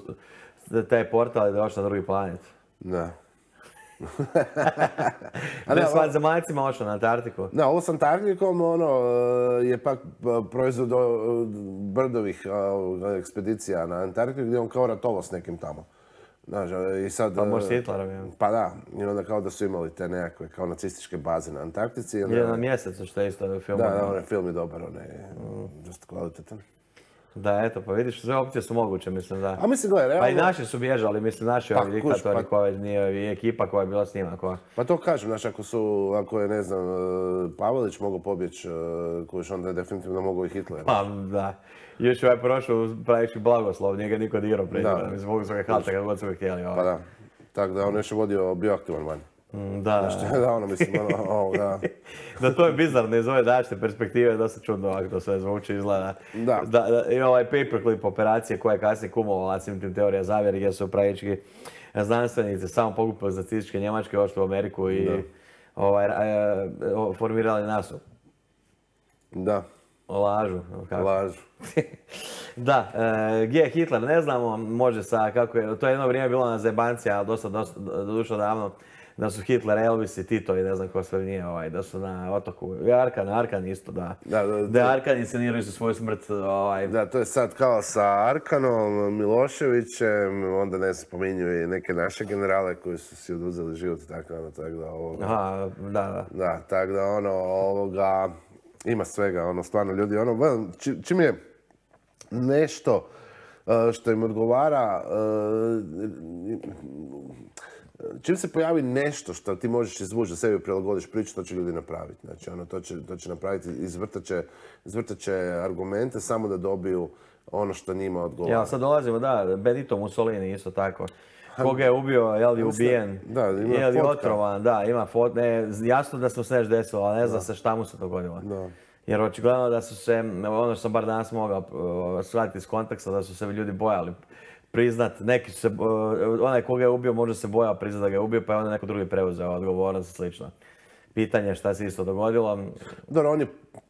taj portal i da je ošao na drugi planet. Da. Ne s zemaljcima ošao na Antarktiku. Da, ovo s Antarktikom je pak proizvod Brdovih ekspedicija na Antarktiku gdje on kao ratovao s nekim tamo. Znaš, i sad... Pa možda s Hitlerom. Pa da, i onda kao da su imali te nekakve kao nacističke baze na Antarktici. Je na mjesecu što je isto film. Da, onaj film je dobar, on je dosta kvalitetan. Da, eto, pa vidiš, sve opcije su moguće, mislim da... A mislim, gledaj, realno... Pa i naši su bježali, mislim, naši ovi diktatori koji nije i ekipa koja je bila s njima. Pa to kažem, znaš, ako je, ne znam, Pavelić mogao pobjeći, koji je onda definitivno mogao i Hitler. Pa da. Još ovaj prošao pravići blagoslov, nije ga niko dirao pred njima, zbog svoga halta kad god su ga htjeli. Pa da, tako da on još je vodio bioaktivan van. Da. Da, ono mislim, da. Da, to je bizarno iz ove današnje perspektive, dosta čudno ovako to sve zvuči, izgleda. Da. I ovaj paperclip operacije koja je kasnije kumovala svim tim teorija zavjeri gdje su pravički znanstvenici samo pokupili za nacističke Njemačke, ošli u Ameriku i formirali NASU. Da. Lažu. Lažu. Da, gdje je Hitler ne znamo, može sa kako je, to je jedno vrijeme bilo na zebanci, ali dosta dušo davno, da su Hitler, Elvis i Tito i ne znam ko sve nije, da su na otoku, Arkan isto, da. Da Arkan insceniraju su svoju smrt. Da, to je sad kao sa Arkanom, Miloševićem, onda ne spominju i neke naše generale koji su si oduzeli život, tako da Aha, da. Da, tako da ima svega, ono, stvarno ljudi, ono, čim je nešto što im odgovara, čim se pojavi nešto što ti možeš izvući da sebi prilagodiš priču, to će ljudi napraviti. Znači, ono, to će napraviti, izvrtat će argumente samo da dobiju ono što njima odgovara. Ja, sad dolazimo, da, Benito Mussolini isto tako. Koga je ubio, je li ubijen, je li otrovan, da, ima fotka. Jasno da se mu se nešto desilo, ali ne zna se šta mu se dogodilo. Jer očigledno da su se, ono što sam bar danas mogao shvatiti iz konteksta, da su se ljudi bojali priznat, neki su se, onaj koga je ubio možda se bojao priznat da ga je ubio, pa je onda neko drugi preuzeo odgovornost i slično. Pitanje šta se isto dogodilo. Dobro,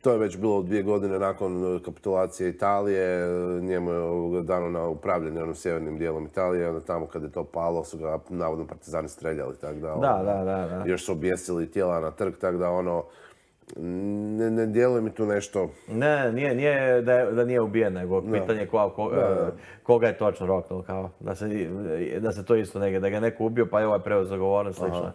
to je već bilo 2 godine nakon kapitulacije Italije, njemu je dano na upravljanje onom sjevernim dijelom Italije, onda tamo kad je to palo su ga navodno partizani streljali, tako da... Da. Još su objesili tijela na trg, tako da ono... Ne djeluje mi tu nešto... Ne, nije da nije ubijen, nego pitanje koga je točno roknuo, kao da se to isto negdje, da ga neko ubio pa je ovaj preuzeo odgovornost, slično.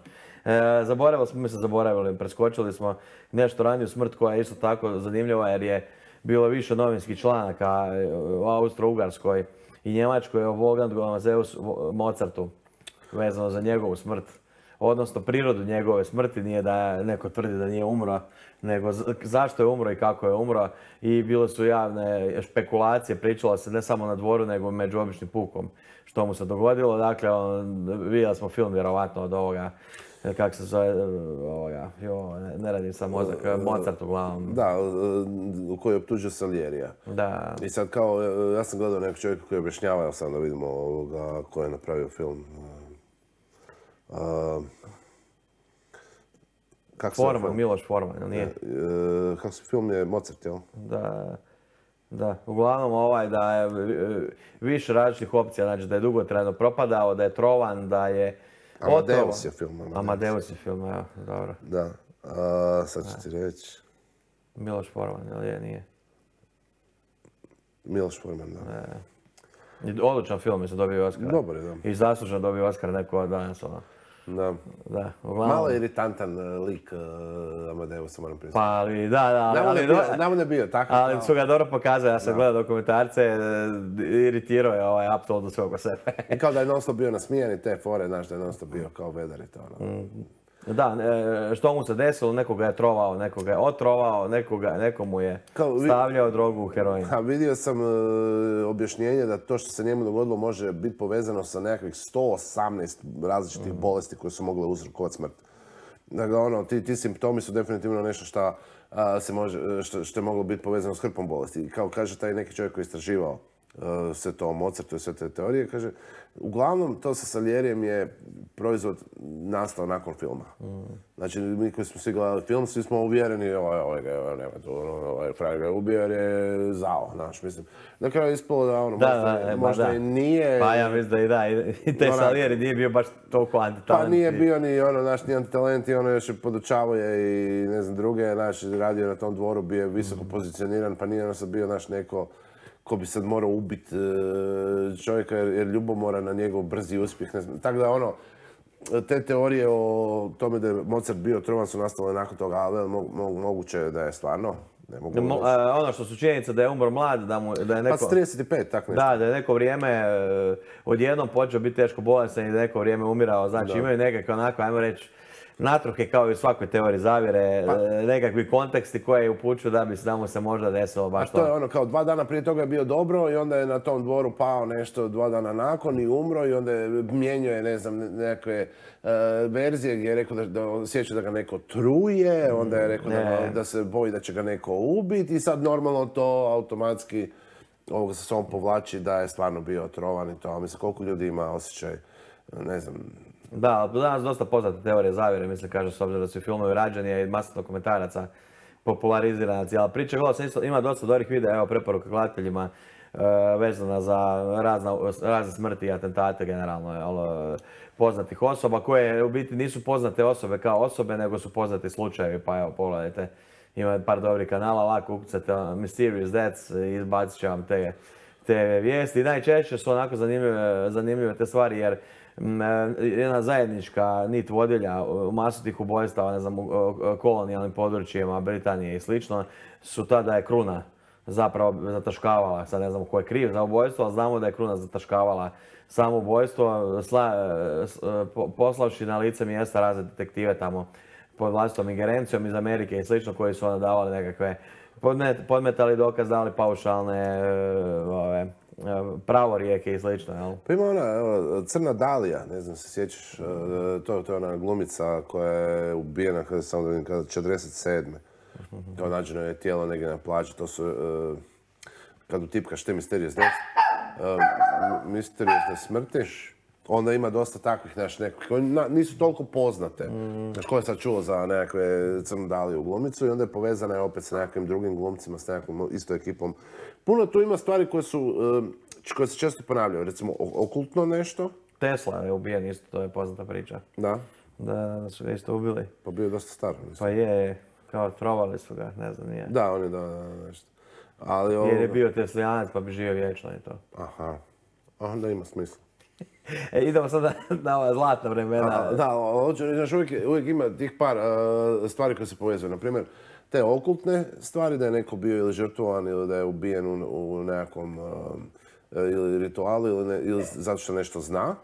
Zaboravili, preskočili smo nešto raniju smrt koja je isto tako zanimljiva jer je bilo više novinskih članaka u Austro-Ugarskoj i Njemačkoj o Wolfgangu Amadeusu Mozartu vezano za njegovu smrt. Odnosno prirodu njegove smrti, nije da neko tvrdi da nije umro, nego zašto je umro i kako je umro. I bile su javne špekulacije, pričalo se ne samo na dvoru, nego među običnim pukom što mu se dogodilo. Dakle, vidjeli smo film vjerovatno od ovoga, kako se zove, ne radim sam mozak, Mozart uglavnom. Da, u kojoj je optužio Salierija. Da. I sad kao, ja sam gledao nekog čovjeka koji je objašnjavao sam da vidimo ko je napravio film. Forman, Miloš Forman, ili nije? Kako se film je Mozart, jel? Da. Uglavnom da je više različitih opcija, znači da je dugotrajno propadao, da je trovan, da je Amadeus je film. Amadeus je film, evo, dobro. Da, sad ću ti reći. Miloš Forman, ili nije? Miloš Forman, da. Odličan film, mislim, dobio Oskara. Dobar je, da. I zasluženo dobio Oskara neko od danas, Da. Uglavnom... Malo je iritantan lik Amadeusa, moram priznati. Pa, ali da. Namo ne bio tako. Ali su ga dobro pokazali, ja sam gledao dokumentarce, iritirao je apsolutno svog sebe. I kao da je non-stop bio nasmijan i te fore, znaš da je non-stop bio kao vedar i to. Da, što mu se desilo, nekoga je trovao, nekoga je otrovao, nekomu je stavljao drogu u heroin. Vidio sam objašnjenje da to što se njemu dogodilo može biti povezano sa nekakvih 118 različitih bolesti koje su mogle uzrokovati smrt. Dakle, ti simptomi su definitivno nešto što je moglo biti povezano s hrpom bolesti. Kao kaže taj neki čovjek koji je istraživao sve to o Mozartu i sve te teorije, kaže, uglavnom to sa Salierijem je proizvod nastao nakon filma. Znači, mi koji smo svi gledali film, svi smo uvjereni, ovaj frajer ga je ubio jer je zao, znaš, mislim. Na kraju je ispalo da možda i nije... Pa ja mislim da i taj Salieri nije bio baš toliko antitalent. Pa nije bio ni ni antitalent i još je podučavao je i ne znam druge, znaš, radio na tom dvoru, bio je visoko pozicioniran, pa nije sad bio naš neko ko bi sad morao ubiti čovjeka jer ljubomora na njegov brzi uspjeh. Tako da te teorije o tome da je Mozart bio trovan su nastale nakon toga, ali moguće je da je stvarno. Ono što su činjenica da je umro mlad, da je neko... Pa s 35, tako nešto. Da je neko vrijeme odjednom počeo biti teško bolestan i da je neko vrijeme umirao. Znači imaju nekakve onako, ajmo reći, natruhe kao i u svakoj teoriji zavjere, nekakvi konteksti koje upućuju da mu se možda desilo baš to. A to je kao 2 dana prije toga je bio dobro i onda je na tom dvoru pao nešto 2 dana nakon i umro i onda je mijenjao je, ne znam, nekakve verzije gdje je rekao da osjeća da ga neko truje, onda je rekao da se boji da će ga neko ubiti i sad normalno to automatski ovoga sa sobom povlači da je stvarno bio otrovan i to. A mislim, koliko ljudi ima osjećaj, ne znam. Da, danas dosta poznate teorije zavjere, mislim, kaže, s obzirom da su filmovi rađeni i masa dokumentaraca popularizirana cijela priča. Gledao sam isto, ima dosta dobrih videa, evo preporuka gledateljima vezana za razne smrti i atentate generalno, poznatih osoba koje u biti nisu poznate osobe kao osobe, nego su poznati slučajevi, pa evo pogledajte. Ima par dobrih kanala, lako ukucate Mysterious Deaths i izbacit će vam te vijesti. I najčešće su onako zanimljive te stvari jer jedna zajednička nit vodilja u masu tih ubojstava, ne znam, u kolonijalnim područjima Britanije i slično, su ta da je kruna zapravo zataškavala, sad ne znamo ko je kriv za ubojstvo, ali znamo da je kruna zataškavala samo ubojstvo, poslavši na lice mjesta razne detektive tamo pod vlastitom ingerencijom iz Amerike i slično, koji su onda davali nekakve, podmetali dokaz, dali paušalne pravorijeke i slično, jel? Pa ima ona, evo, Crna Dalija, ne znam se sjećaš, to je ona glumica koja je ubijena kada 47. Kao nađeno je tijelo negdje na plaži, to su, kad utipkaš te misteriozne smrti, onda ima dosta takvih, znaš, nekakvih, koji nisu toliko poznate. Znaš, ko je sad čuo za nekakve Crnu Daliju glumicu i onda je povezana opet sa nekakvim drugim glumcima, s nekakvom istom ekipom. Puno tu ima stvari koje se često ponavljaju, recimo okultno nešto. Tesla je ubijen isto, to je poznata priča. Da. Da su ga isto ubili. Pa bio je dosta star. Pa je, kao trovali su ga, ne znam, nije. Da, on je nešto. Ali jer je bio teslijanac pa bi živio vječno i to. Aha, onda ima smisla. Idemo sada na ova zlatna vremena. Da, znaš, uvijek ima tih par stvari koje se povezuju. Naprimjer, te okultne stvari, da je neko bio ili žrtvovan ili da je ubijen u nekakvom ili ritualu ili zato što nešto zna.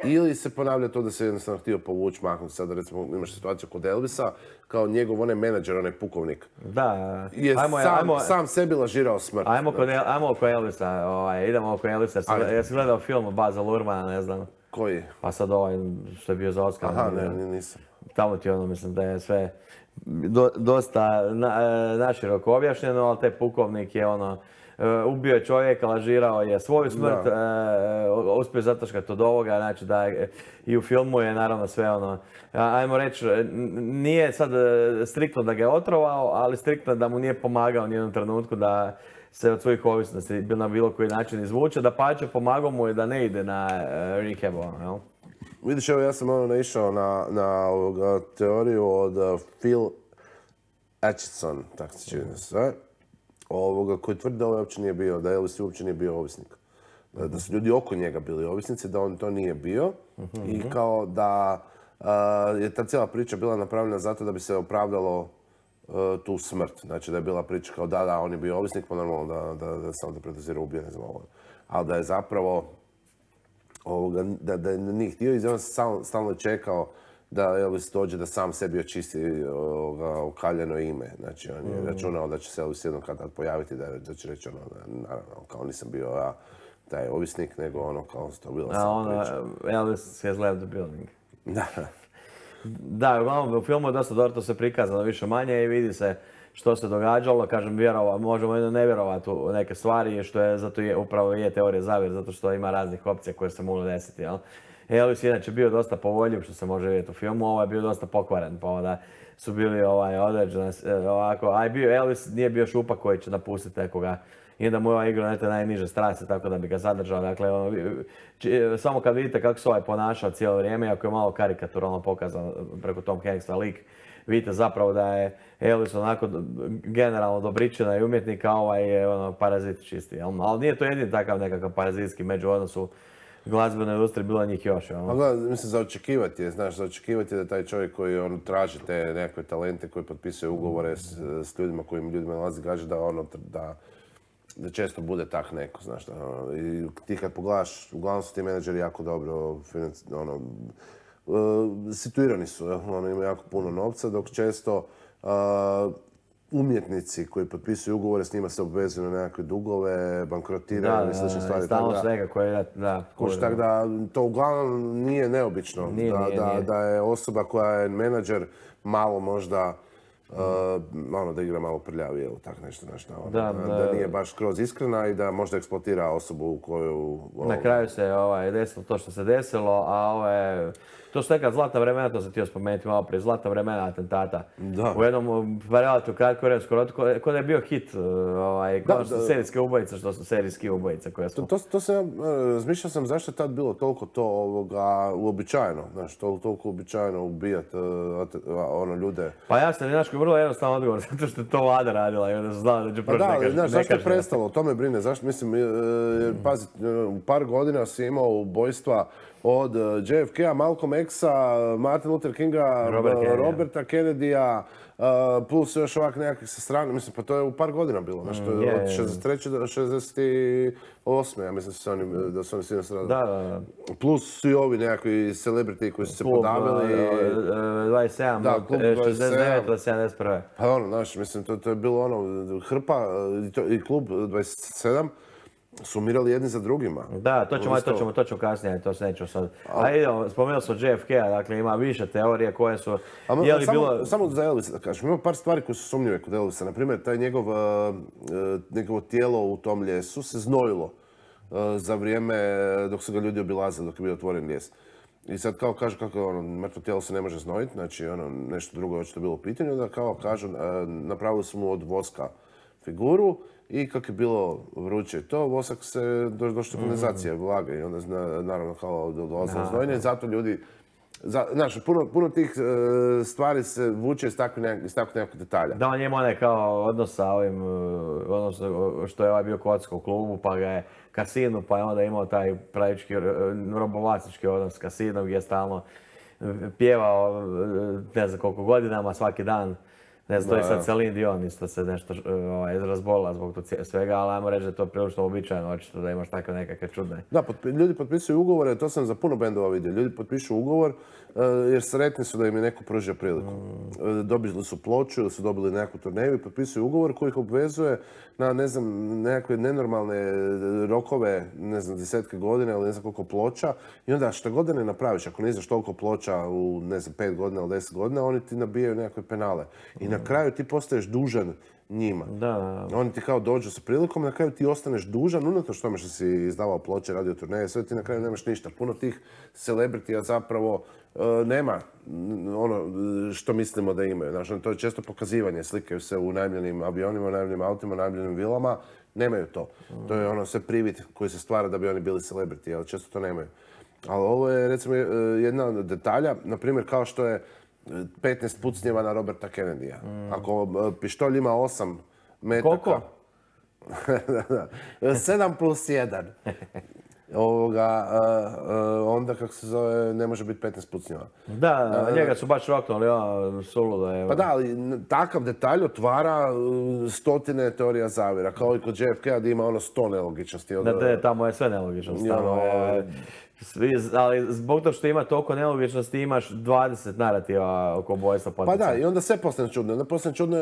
Ili se ponavlja to da se jednostavno htio povući, maknuti. Sada recimo imaš situaciju kod Elvisa, kao njegov onaj menadžer, onaj pukovnik. Da, je sam sebi lažirao smrt. Ajmo oko Elvisa, idemo oko Elvisa. Jesi gledao film Baza Lurmana, ne znam. Koji? Pa sad što je bio za Oscar. Aha, ne, nisam. Tamo ti mislim da je sve dosta naširoko objašnjeno, ali taj pukovnik je ubio je čovjeka, lažirao je svoju smrt, uspio zataškati od ovoga, znači da i u filmu je naravno sve ajmo reći, nije sad striktno da ga je otrovao, ali striktno da mu nije pomagao ni jednom trenutku da se od svojih ovisnosti na bilo koji način izvuče, da pače pomagao mu je da ne ide na rehab, jel? Vidiš, evo ja sam naišao na teoriju od Phil Acheson, tako se čini sve, koji tvrdi da uopće nije bio, da Elvis uopće nije bio ovisnik. Da su ljudi oko njega bili ovisnici, da on to nije bio i kao da je ta cijela priča bila napravljena zato da bi se opravdalo tu smrt. Znači da je bila priča kao da, on je bio ovisnik, pa normalno da sam da predozira ubio, ne znam ovo. Ali da je zapravo da nije htio i on stalno čekao da Elvis dođe da sam sebi očisti okaljeno ime. Znači, on je računao da će se Elvis jednom kad pojaviti, da će reći naravno, kao nisam bio ja taj ovisnik, nego kao to bila sam priča. Elvis has left the building. Da. Da, uglavnom, u filmu je dosta dobro to se prikazano više manje i vidi se što se događalo. Kažem, možemo ne vjerovati u neke stvari, što je, zato upravo je teorija zavjere, zato što ima raznih opcija koje se mogu desiti, jel? Elvis je inače bio dosta povoljiv, što se može vidjeti u filmu, ovo je bio dosta pokvaren, pa onda su bili određene ovako, Elvis nije bio šupak koji će napustiti nekoga i da mu je igrao na te najniže strasti, tako da bi ga zadržao. Dakle, samo kad vidite kako se ponašao cijelo vrijeme, iako je malo karikaturalno pokazano preko Tom Hanksa lik, vidite zapravo da je Elvis onako generalno dobričina i umjetnika, a ovaj je parazit čisti. Ali nije to jedini takav nekakav parazitski među odnosu glazbenoj industriji, bilo njih još. Mislim, za očekivati je, znaš, za očekivati je da taj čovjek koji traži te nekakve talente, koji potpisuje ugovore s ljudima kojim ljudima nalazi gaže, da često bude tak neko, znaš. I ti kad pogledaš, uglavnom su ti menadžeri jako dobro situirani su, imaju jako puno novca, dok često umjetnici koji potpisuju ugovore s njima se obvezuju na nekakve dugove, bankrotiraju i slične stvari. Stalno svega koje tako da to uglavnom nije neobično. Da je osoba koja je menadžer malo možda da igra malo prljavije ili tak nešto. Da nije baš skroz iskrena i da možda eksploatira osobu u koju... Na kraju se desilo to što se desilo, a to su neka zlatna vremena, to sam htio spomenuti malo prije, zlatna vremena atentata. U jednom relativno kratkom vremenskom ko da je bio hit, serijske ubojice, što su serijski ubojice koje smo... Razmišljao sam zašto je tad bilo toliko to uobičajeno, znaš, toliko uobičajeno ubijati ljude. Pa jasno, znaš, vrlo jednostavan odgovor, zato što je to vlada radila i onda su znala da će proći nekažnjeno. Znaš, zašto je prestalo, to me brine, zašto, mislim, pazi, u par godina si imao ubojstva od JFK-a, Malcolm X-a, Martin Luther Kinga, Roberta Kennedy-a, plus još ovak nekakvih sa strane, mislim, pa to je u par godina bilo, znači, to je od 63. do 68. Ja mislim da su oni svi nastradali. Da. Plus svi ovi nekakvi celebrity koji su se podavili. 27, da, klub 69 do 71. Pa ono, znaš, mislim, to je bilo ono, hrpa i klub 27 su umirali jedni za drugima. Da, to ćemo kasnije, to se neću sad. A idemo, spomenuo sam JFK-a, dakle ima više teorije koje su... Samo za Elvisa da kažem, ima par stvari koje su sumnjive kod Elvisa. Naprimjer, taj njegovo tijelo u tom ljesu se znojilo za vrijeme dok su ga ljudi obilazili, dok je bio otvoren lijes. I sad kao kažu kako mrtvo tijelo se ne može znojiti, znači nešto drugo je očito bilo u pitanju, onda kao kažu napravili su mu od voska figuru i kako je bilo vruće to, vosak se došlo kondenzacija vlaga i onda naravno kao dolazilo znojenje, zato ljudi, znaš, puno tih stvari se vuče iz takvih nekakvih detalja. Da, on ima onaj kao odnos sa ovim, što je ovaj bio kocka u klubu, pa ga je kasinu, pa je onda imao taj pravički robovlasnički odnos s kasinom gdje je stalno pjevao ne znam koliko godinama, svaki dan. Ne znam, to je sad Celine Dion isto se nešto razbolila zbog svega, ali ajmo reći da je to prilično običajno, očito da imaš takve nekakve čudne. Da, ljudi potpisuju ugovore, to sam za puno bendova vidio. Ljudi potpišu ugovor jer sretni su da im je neko pružio priliku. Dobili su ploču ili su dobili nekakvu turneju i potpisuju ugovor koji ih obvezuje na, ne znam, nekakve nenormalne rokove, ne znam, 10 godina ili ne znam koliko ploča. I onda što god da ne napraviš, ako ne izdaš toliko ploča u, ne znam, 5 godina ili 10 godina, oni ti nabijaju nekakve penale. I na kraju ti postaješ dužan njima. Da. Oni ti kao dođu sa prilikom, na kraju ti ostaneš dužan, unatoč tome što si izdavao ploče, radio turneje, sve ti na kraju nemaš ništa. Puno tih celebritija zapravo nema ono što mislimo da imaju. Znači, to je često pokazivanje, slikaju se u najmljenim avionima, najmljenim autima, najmljenim vilama, nemaju to. To je ono sve privid koji se stvara da bi oni bili celebrity, ali često to nemaju. Ali ovo je recimo jedna od detalja, na primjer kao što je 15 pucnjeva na Roberta Kennedy-a. Ako pištolj ima 8 metaka... Koliko? 7 plus 1. Onda, kako se zove, ne može biti 15 pucnjeva. Da, njega su baš roknuli, suludo je. Pa da, ali takav detalj otvara stotine teorija zavjera, kao i kod JFK-a da ima 100 nelogičnosti. Da, tamo je sve nelogičnosti. Ali zbog toga što ima toliko nelogičnosti imaš 20 narativa oko ubojstva potencijalno. Pa da, i onda sve postane čudno. Onda postane čudno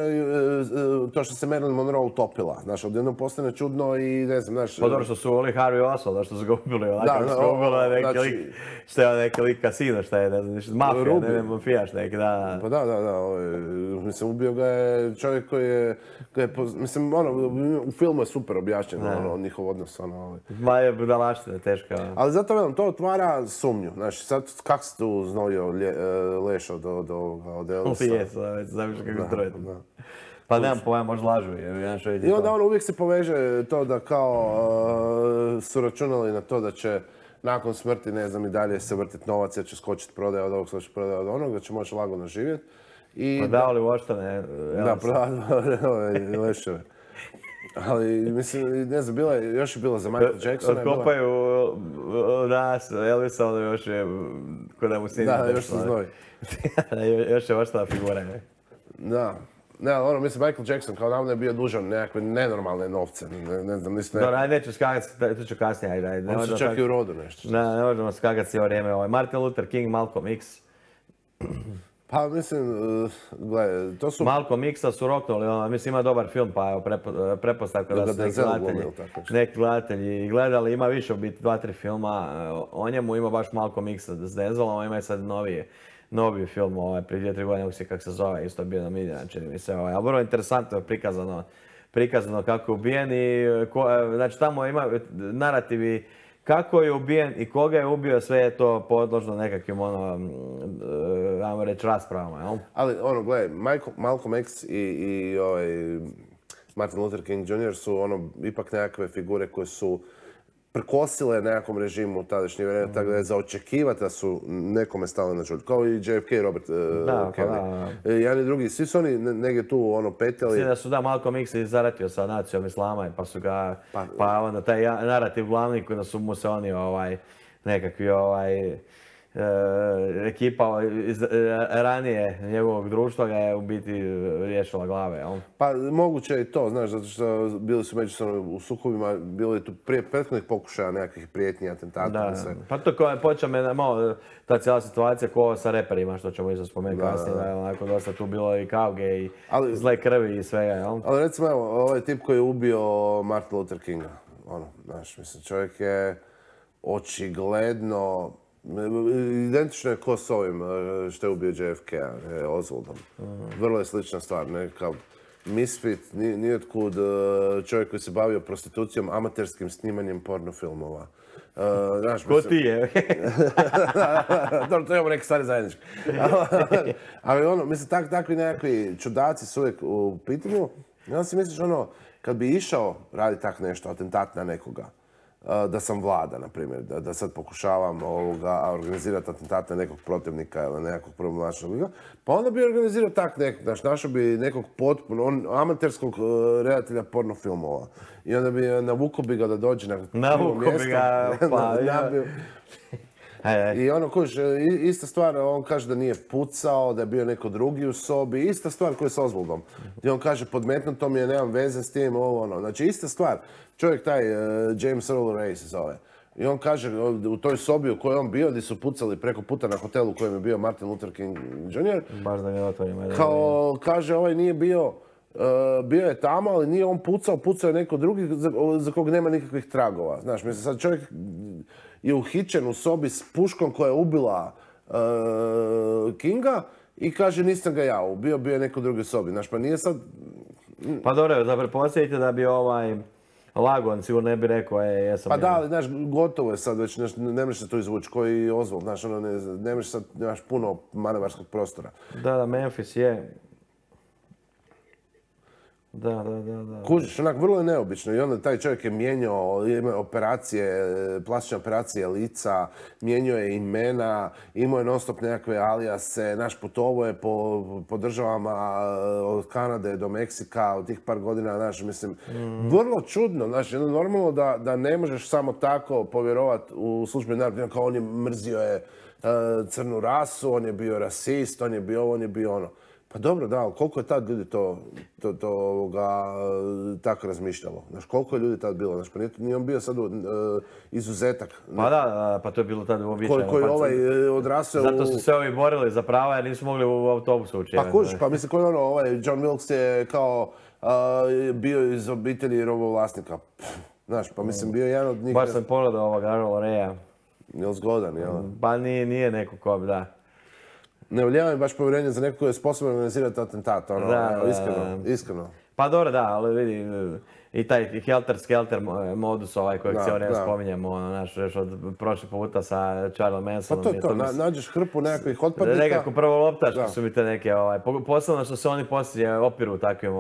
to što se Marilyn Monroe utopila. Znaš, odjednom postane čudno i ne znam, znaš... Pa dobro što su Oli Harvey Oswald, što su ga ubili onako, što su ubili neki lik, što je neki lik kasino, što je, ne znam, mafija, ne znam, mafijaš neki, da. Pa da, mislim, ubio ga je čovjek koji je, mislim, u filmu je super objašnjeno, njihov odnos, Ma je budalaština, teška. Ali zato velim, to otvara sumnju. Znači, sad kako si tu znojio Lešo od Elvisa? Jesu, znaš kako strojiti. Pa nemam pojma, možda lažu. I onda uvijek se poveže to da kao su računali na to da će nakon smrti, ne znam, i dalje se vrtiti novac, jer će skočiti prodaja od ovog, skočiti prodaja od onog, da će moći lagano živjeti. Prodavali voštane. Da, prodavali Leševe. Ali, mislim, ne znam, još je bila za Michael Jacksona. Otkopaju nas, Elvisa, ono još je, kod da mu sin... Da, još se znoj. Još je ostala figura, ne? Da. Ne, mislim, Michael Jackson kao davno je bio dužan nekakve nenormalne novce. Ne znam, nisam... Dobro, ajde, neću skakati, to ću kasnije, ajde. On se čak i u rodu nešto. Ne možemo skakati cijelo vrijeme. Martin Luther King, Malcolm X. Pa mislim, gledaj, to su... Malcolm X-a su roknuli, mislim ima dobar film, pa evo pretpostavka da su neki gledatelji gledali, ima više u biti 2-3 filma o njemu, ima baš Malcolm X s Denzalom, ima i sad novi film prije 2-3 godine, kako se zove, isto je bio namiljen, čini mi se, ali vrlo interesantno je prikazano kako je ubijen i, znači tamo ima narativi kako je ubijen i koga je ubio, sve je to podložno nekakvim, ajmo reći, raspravama, jel? Ali, gledaj, Malcolm X i Martin Luther King Jr. su, ipak nekakve figure koje su prkosile nekakvom režimu u tadašnje vrijeme, tako da je za očekivati da su nekome stali na čuđ. Kao i JFK i Robert Kennedy. Jedan i drugi, svi su oni negdje tu petljali. Svi da su Malcolm X zaratio sa nacijom islama, pa su ga, pa onda taj narativ glavni koji su mu se oni nekakvi ekipa iz ranije njegovog društva ga je u biti riješila glave, jel? Pa moguće je i to, znaš, zato što bili su međusobno u sukobima, bilo je tu prethodnih pokušaja nekakvih prijetnji, atentata i sve. Pa to počeo me malo ta cijela situacija ko sa reperima, što ćemo isto spomenuti kasnije, da je onako dosta tu bilo i kauge i zle krvi i svega, jel? Ali recimo, evo, ovaj tip koji je ubio Martin Luther Kinga, znaš, mislim, čovjek je očigledno, identično je ko s ovim što je ubio JFK-a, Oswaldom. Vrlo je slična stvar, nekakav misfit, niotkud čovjek koji se bavio prostitucijom, amaterskim snimanjem pornofilmova. Ko ti je? Dobro, to imamo neke stvari zajedničke. Ali mislim, takvi nekakvi čudaci su uvijek u pitanju. I onda si misliš, kad bi išao raditi tak nešto, atentat na nekoga, da sam vlada, na primjer, da sad pokušavam organizirati atentat na nekog protivnika ili nekog problematičnog, pa onda bi organizirao tak nekog, znaš, našao bi nekog potpuno, amaterskog redatelja pornofilmova. I onda bi navukao bi ga da dođe na krivo mjesto. I kuš, ista stvar, on kaže da nije pucao, da je bio neko drugi u sobi, ista stvar koja je s Oswaldom. I on kaže, podmetnuto mi je, nemam veze s tim, Znači, ista stvar. Čovjek taj, James Earl Ray se zove. I on kaže, u toj sobi u kojoj on bio, gdje su pucali preko puta na hotelu u kojem je bio Martin Luther King Jr. Baš da ga otvorimo. Kao, kaže, ovaj nije bio, bio je tamo, ali nije on pucao je neko drugi za kog nema nikakvih tragova. Znaš, mislim, sad čovjek je uhićen u sobi s puškom koja je ubila Kinga i kaže nisam ga ja ubio, bio je neko drugi u sobi. Znaš, pa nije sad... Pa dobro, da pretpostavite da bi Lagon sigurno ne bi rekao, jesam... Pa da, ali znaš, gotovo je sad već, ne možeš se to izvući, koji Oswald, znaš, ne možeš sad, nemaš puno manevarskog prostora. Da, Memphis je... Da. Kužiš, vrlo je neobično i onda taj čovjek je mijenjao operacije, plastične operacije lica, mijenjao je imena, imao je non stop nekakve alijase, putovao je po državama od Kanade do Meksika od tih par godina, mislim, vrlo čudno, normalno da ne možeš samo tako povjerovati u službeni narod, kao on je mrzio crnu rasu, on je bio rasist, on je bio ovo, on je bio ono. Pa dobro, da, ali koliko je tad ljudi to tako razmišljalo? Znaš, koliko je ljudi tad bilo? Znaš, pa nije on bio sad izuzetak. Pa da, pa to je bilo tad uobičajeno. Koji ovaj odrasao... Zato su se ovi borili za prava jer nisu mogli u autobusu učiti. Pa kužiš, pa mislim, koji John Wilkes je kao bio iz obitelji robovlasnika. Znaš, pa mislim, bio jedan od njih... Baš sam pogledao ovoga Earla Raya. Jel zgodan, jel? Pa nije neko ko bi, da. Ne ulijeva mi baš povjerenje za neko koji je sposoban organizirati atentat, iskreno. Pa dobro, da, ali vidi, i taj helter-skelter modus kojeg cijelo vrijeme spominjemo, još od prošli puta sa Charles Mansonom. Pa to je to, nađeš hrpu nekakvih otpadnika. Nekako prvo loptaški su mi te neke, posebno što se oni poslije opiru takvim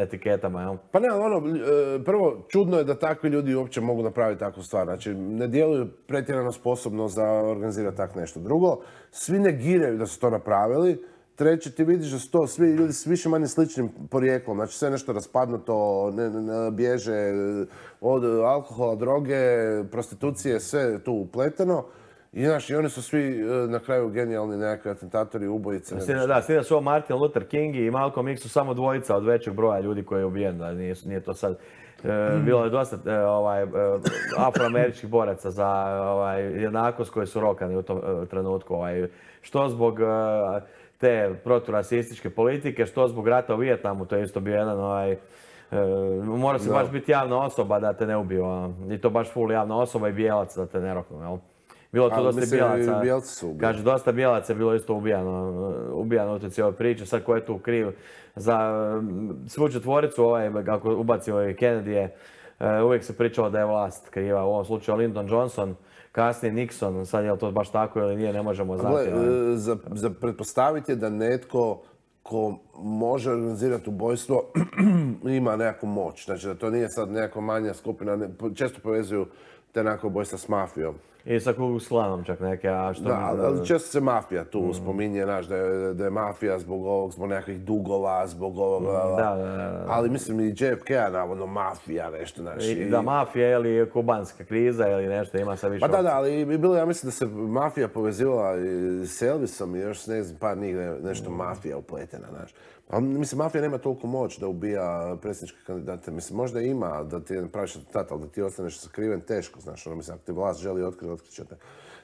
etiketama, jel? Pa ne, prvo, čudno je da takvi ljudi uopće mogu napraviti takvu stvar. Znači, ne djeluju pretjerano sposobno za organizirati tak nešto. Drugo, svi negiraju da su to napravili. Treće, ti vidiš da su to svi ljudi s više manje sličnim porijeklom, znači sve nešto raspadnuto, bježe od alkohola, droge, prostitucije, sve tu upleteno. I znaš, i oni su svi na kraju genijalni nekakvi atentatori, ubojice. Da, svi da su ovo Martin Luther King i Malcolm X su samo dvojica od većeg broja ljudi koji je ubijen, da nije to sad... Bilo je dosta afroameričkih boraca za jednakost koji su rokani u tom trenutku. Što zbog te proturasističke politike, što zbog rata u Vijetnamu, to je isto bio jedan mora se baš biti javna osoba da te ne ubiju. I to baš full javna osoba i bijelac da te ne roknu, jel? Bilo to dosta bijelaca. Kaže, dosta bijelaca je bilo isto ubijano u toj cijeloj priči. Sad ko je tu kriv za svu četvoricu, kako ubacio Kennedy, uvijek se pričalo da je vlast kriva. U ovom slučaju Lyndon Johnson, kasnije Nixon, sad je li to baš tako ili nije, ne možemo znati. Za pretpostaviti je da netko ko može organizirati ubojstvo ima nekakvu moć. Znači da to nije sad nekakva manja skupina, često povezuju te nekako ubojstva s mafijom. I sa Ku Klux Klanom čak neke, a što... Da, ali često se mafija tu spominje, znaš, da je mafija zbog ovog, zbog nekakvih dugova, zbog ovoga. Da. Ali mislim i JFK-a, navodno, mafija, nešto, znaš. Da, mafija ili kubanska kriza ili nešto, ima sad više... Pa da, ali i bilo, ja mislim da se mafija povezivala i s Elvisom i još ne znam, par njih nešto mafija upletena, znaš. Pa mislim, mafija nema toliko moć da ubija predsjedničke kandidate. Mislim, možda ima da ti praviš atentat, ali da ti ostaneš sakriven teško, znaš, ono, mislim, ako ti vlast želi otkriti, otkriće te.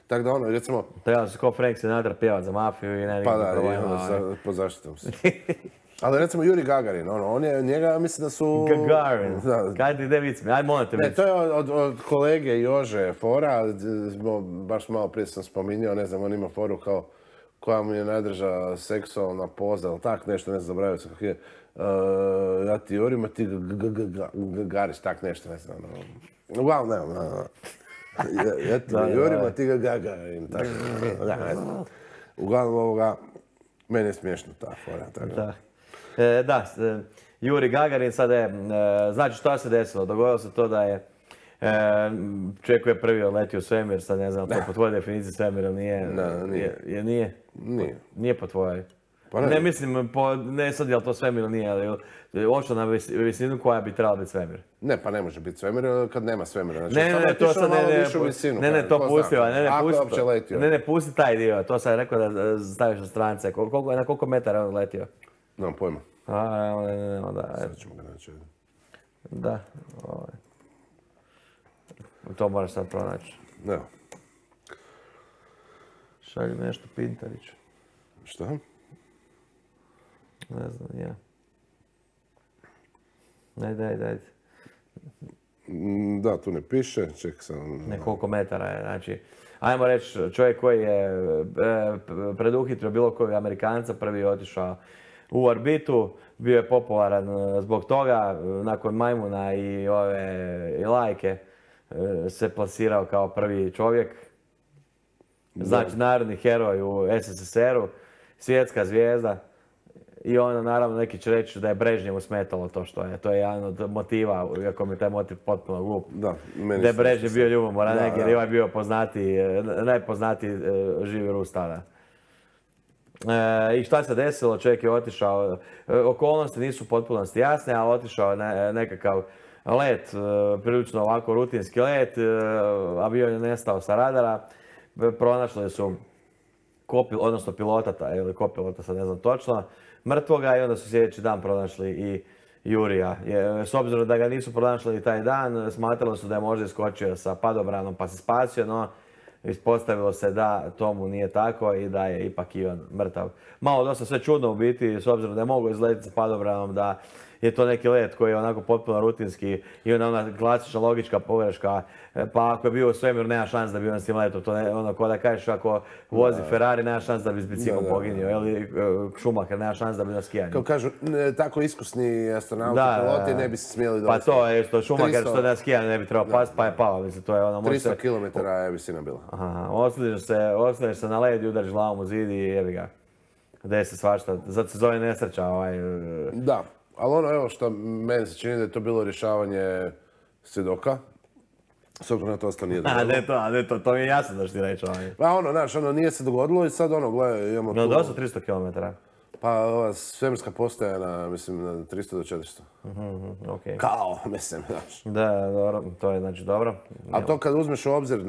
Tako da ono, recimo... Treba se ko Frank Sinatra pjevat za mafiju i ne pa da, pod zaštitom se. Ali recimo Juri Gagarin, on je, njega mislim da su... Gagarin, kaj ti ide vic mi, aj molim te vic. Ne, to je od kolege Jože fora, baš malo prije sam spominjao, ne znam, on ima foru kao koja mu je najdrža seksualna poza, ili tak nešto, ne znam, zabravio sam kako je. Ja ti Jurima, ti Gagariš, tak nešto, ne znam. Uglavnom, ne. Ja ti Jurima, ti Gagarin, tako. Uglavnom ovoga, meni je smiješno ta fora. Da, Juri Gagarin sad je, znači što se desilo? Dogodilo se to da je čovjek koji je prvi letio u svemir, sad ne znam, to po tvojoj definiciji svemir ili nije? Nije. Nije? Nije po tvojoj. Pa ne mislim, ne sad je li to svemir ili nije, ali ošao na visinu koja bi trebala biti svemir. Ne, pa ne može biti svemir kad nema svemira. Ne, to sad ne, to pusti, ne, pusti taj dio, to sam rekao da staviš na strance. Na koliko metara je on letio? Nemam pojma. Da. Sad ćemo ga naći. Da, to moraš sad pronaći. Evo. Šalju nešto Pintarić. Šta? Ne znam, ja. Daj. Da, tu ne piše, čekaj sam... Nekoliko metara je, znači... Ajmo reći, čovjek koji je preduhitrio bilo kojeg Amerikanca, prvi je otišao u orbitu, bio je popularan zbog toga, nakon majmuna i ove lajke se plasirao kao prvi čovjek. Znači, narodni heroj u SSSR-u, svjetska zvijezda. I ono, naravno, neki će reći da je Brežnjevu smetalo to što je. To je jedan od motiva, iako mi je taj motiv potpuno glup. Da, da je Brežnjev bio ljubomoran, jer je ovaj bio najpoznatiji živi Rus tada. I šta se desilo? Čovjek je otišao, okolnosti nisu potpunosti jasne, ali otišao nekakav let, prilično ovako rutinski let, avion je nestao sa radara, pronašli su odnosno pilota ili kopilota, sad ne znam točno, mrtvoga i onda su sljedeći dan pronašli i Jurija. S obzirom da ga nisu pronašli taj dan, smatralo su da je možda iskočio sa padobranom pa se spasio, no ispostavilo se da tomu nije tako i da je ipak i on mrtav. Malo dosta sve čudno u biti, s obzirom da je mogao izletiti sa padobranom, da je to neki let koji je onako potpuno rutinski i ona klasična logička pogreška. Pa ako je bio u svemiru, nema šans da bi on s tim letom. To je ono ko da kažeš ako vozi Ferrari, nema šans da bi s biciklom poginio. Ili Schumacher, nema šans da bi na skijanju. Kao kažu, tako iskusni astronauti, piloti ne bi se smjeli dovesti. Pa to je što Schumacher što na skijanju ne bi trebao pasti, pa je pao. 300 km je visina bila. Osliješ se na led i udariš glavom u zid i jebi ga. Gde se svašta. Zato se zove nesreća. Da. Ali ono, evo što meni se čini da je to bilo rješavanje svjedoka. S obzirom na to ostalo nije dogodilo. To mi je jasno da što ti reći. Pa ono, znaš, nije se dogodilo i sad ono, gledaj, imamo tu... No, dosta 300 km. Pa ova svemirska postaja na 300 do 400. Okej. Kao, mislim, znaš. Da, dobro, to je znači dobro. A to kad uzmeš u obzir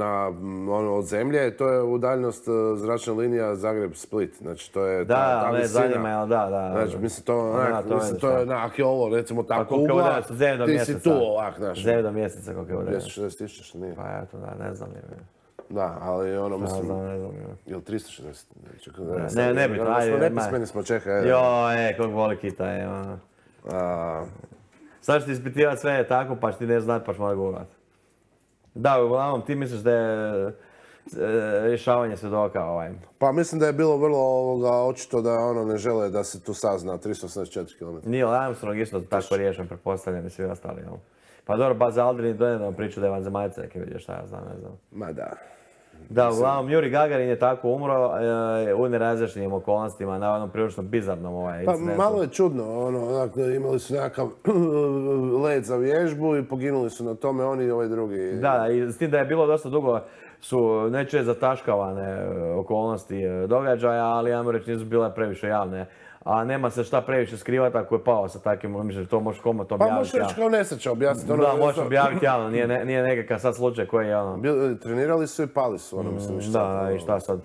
od zemlje, to je udaljenost zračna linija Zagreb-Split. Znači, to je ta visina. Zanima, jel da. Znači, mislim, to je onak je ovo, recimo, ta kugla, ti si tu ovak, znaš. Zemlja mjeseca koliko je udaljenost. 260.000, što nije. Pa eto, ne znam. Da, ali ono, mislim, je li 360? Ne bi to, ajde. Nepismeni smo, čekaj. Kog voli kita je. Sad ću ti ispitivati sve tako, pa ću ti ne znati, pa ću morat govorati. Da, uglavnom, ti misliš da je rješavanje svjedoka Pa mislim da je bilo vrlo očito da ono ne žele da se tu sazna 384 km. Neil Armstrong isto tako riješen, pretpostavljam i svi ostali, jel? Pa dobro, Buzz Aldrin donedavno priču da je vanzemaljca, neke vidio šta ja znam, ne znam. Ma da. Da, uglavnom, Juri Gagarin je tako umro u nerazjašnjenim okolnostima, navodno prilično bizarnom incidentu. Pa malo je čudno, imali su nekakav let za vježbu i poginuli su na tome oni i ovaj drugi. Da, i s tim da je bilo dosta dugo su nečije zataškavane okolnosti događaja, ali ja mu reći nisu bile previše javne. A nema se šta previše skrivati ako je pao sa takvim, mislim, to možeš komot objaviti. Pa možeš reći kao nesreća objasniti. Da, možeš objaviti javno, nije nekakav sad slučaj koji je ono... Trenirali su i pali su, mislim. Da, i šta sad?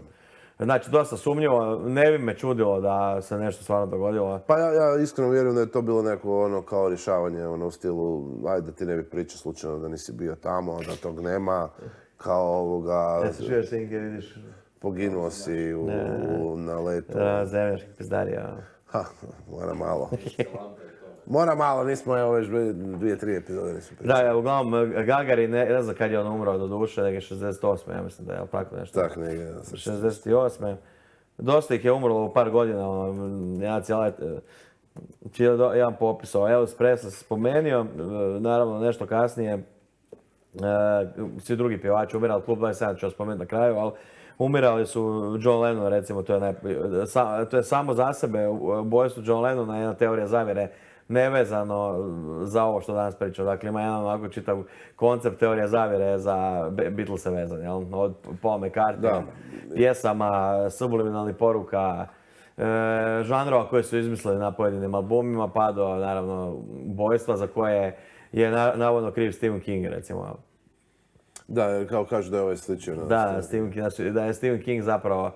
Znači, dosta sumnjivo, ne bi me čudilo da se nešto stvarno dogodilo. Pa ja iskreno vjerujem da je to bilo neko kao rješavanje u stilu, ajde da ti ne bi pričao slučajno da nisi bio tamo, da tog nema, kao ovoga... Ja se čuješ sinke, vidiš... Poginuo si na letu. Zemljaški pizdarija. Mora malo, nismo evo već 2-3 epizode nisu pričali. Da, uglavnom Gagarin, ne znam kad je on umro do duše, neke 68. Ja mislim da je tako nešto. Tak, negdje. 68. Dosta ih je umrlo u par godina, jedan popis, Elvis Presley se spomenio, naravno nešto kasnije, svi drugi pjevači umirali, Klub 27 ću spomenuti na kraju, ali umirali su John Lennon, recimo, to je samo za sebe, ubojstvo John Lennona je jedna teorija zavjere, nevezano za ovo što danas pričam. Dakle, ima jedan onako čitav koncept teorija zavjere za Beatlese vezan, jel? Od Paul McCartney, pjesama, subliminalnih poruka, žanrova koje su izmislili na pojedinim albumima, pa do, naravno, ubojstva za koje je navodno kriv Stephen King, recimo. Da, kao kažu da je ovaj sličio. Da je Stephen King zapravo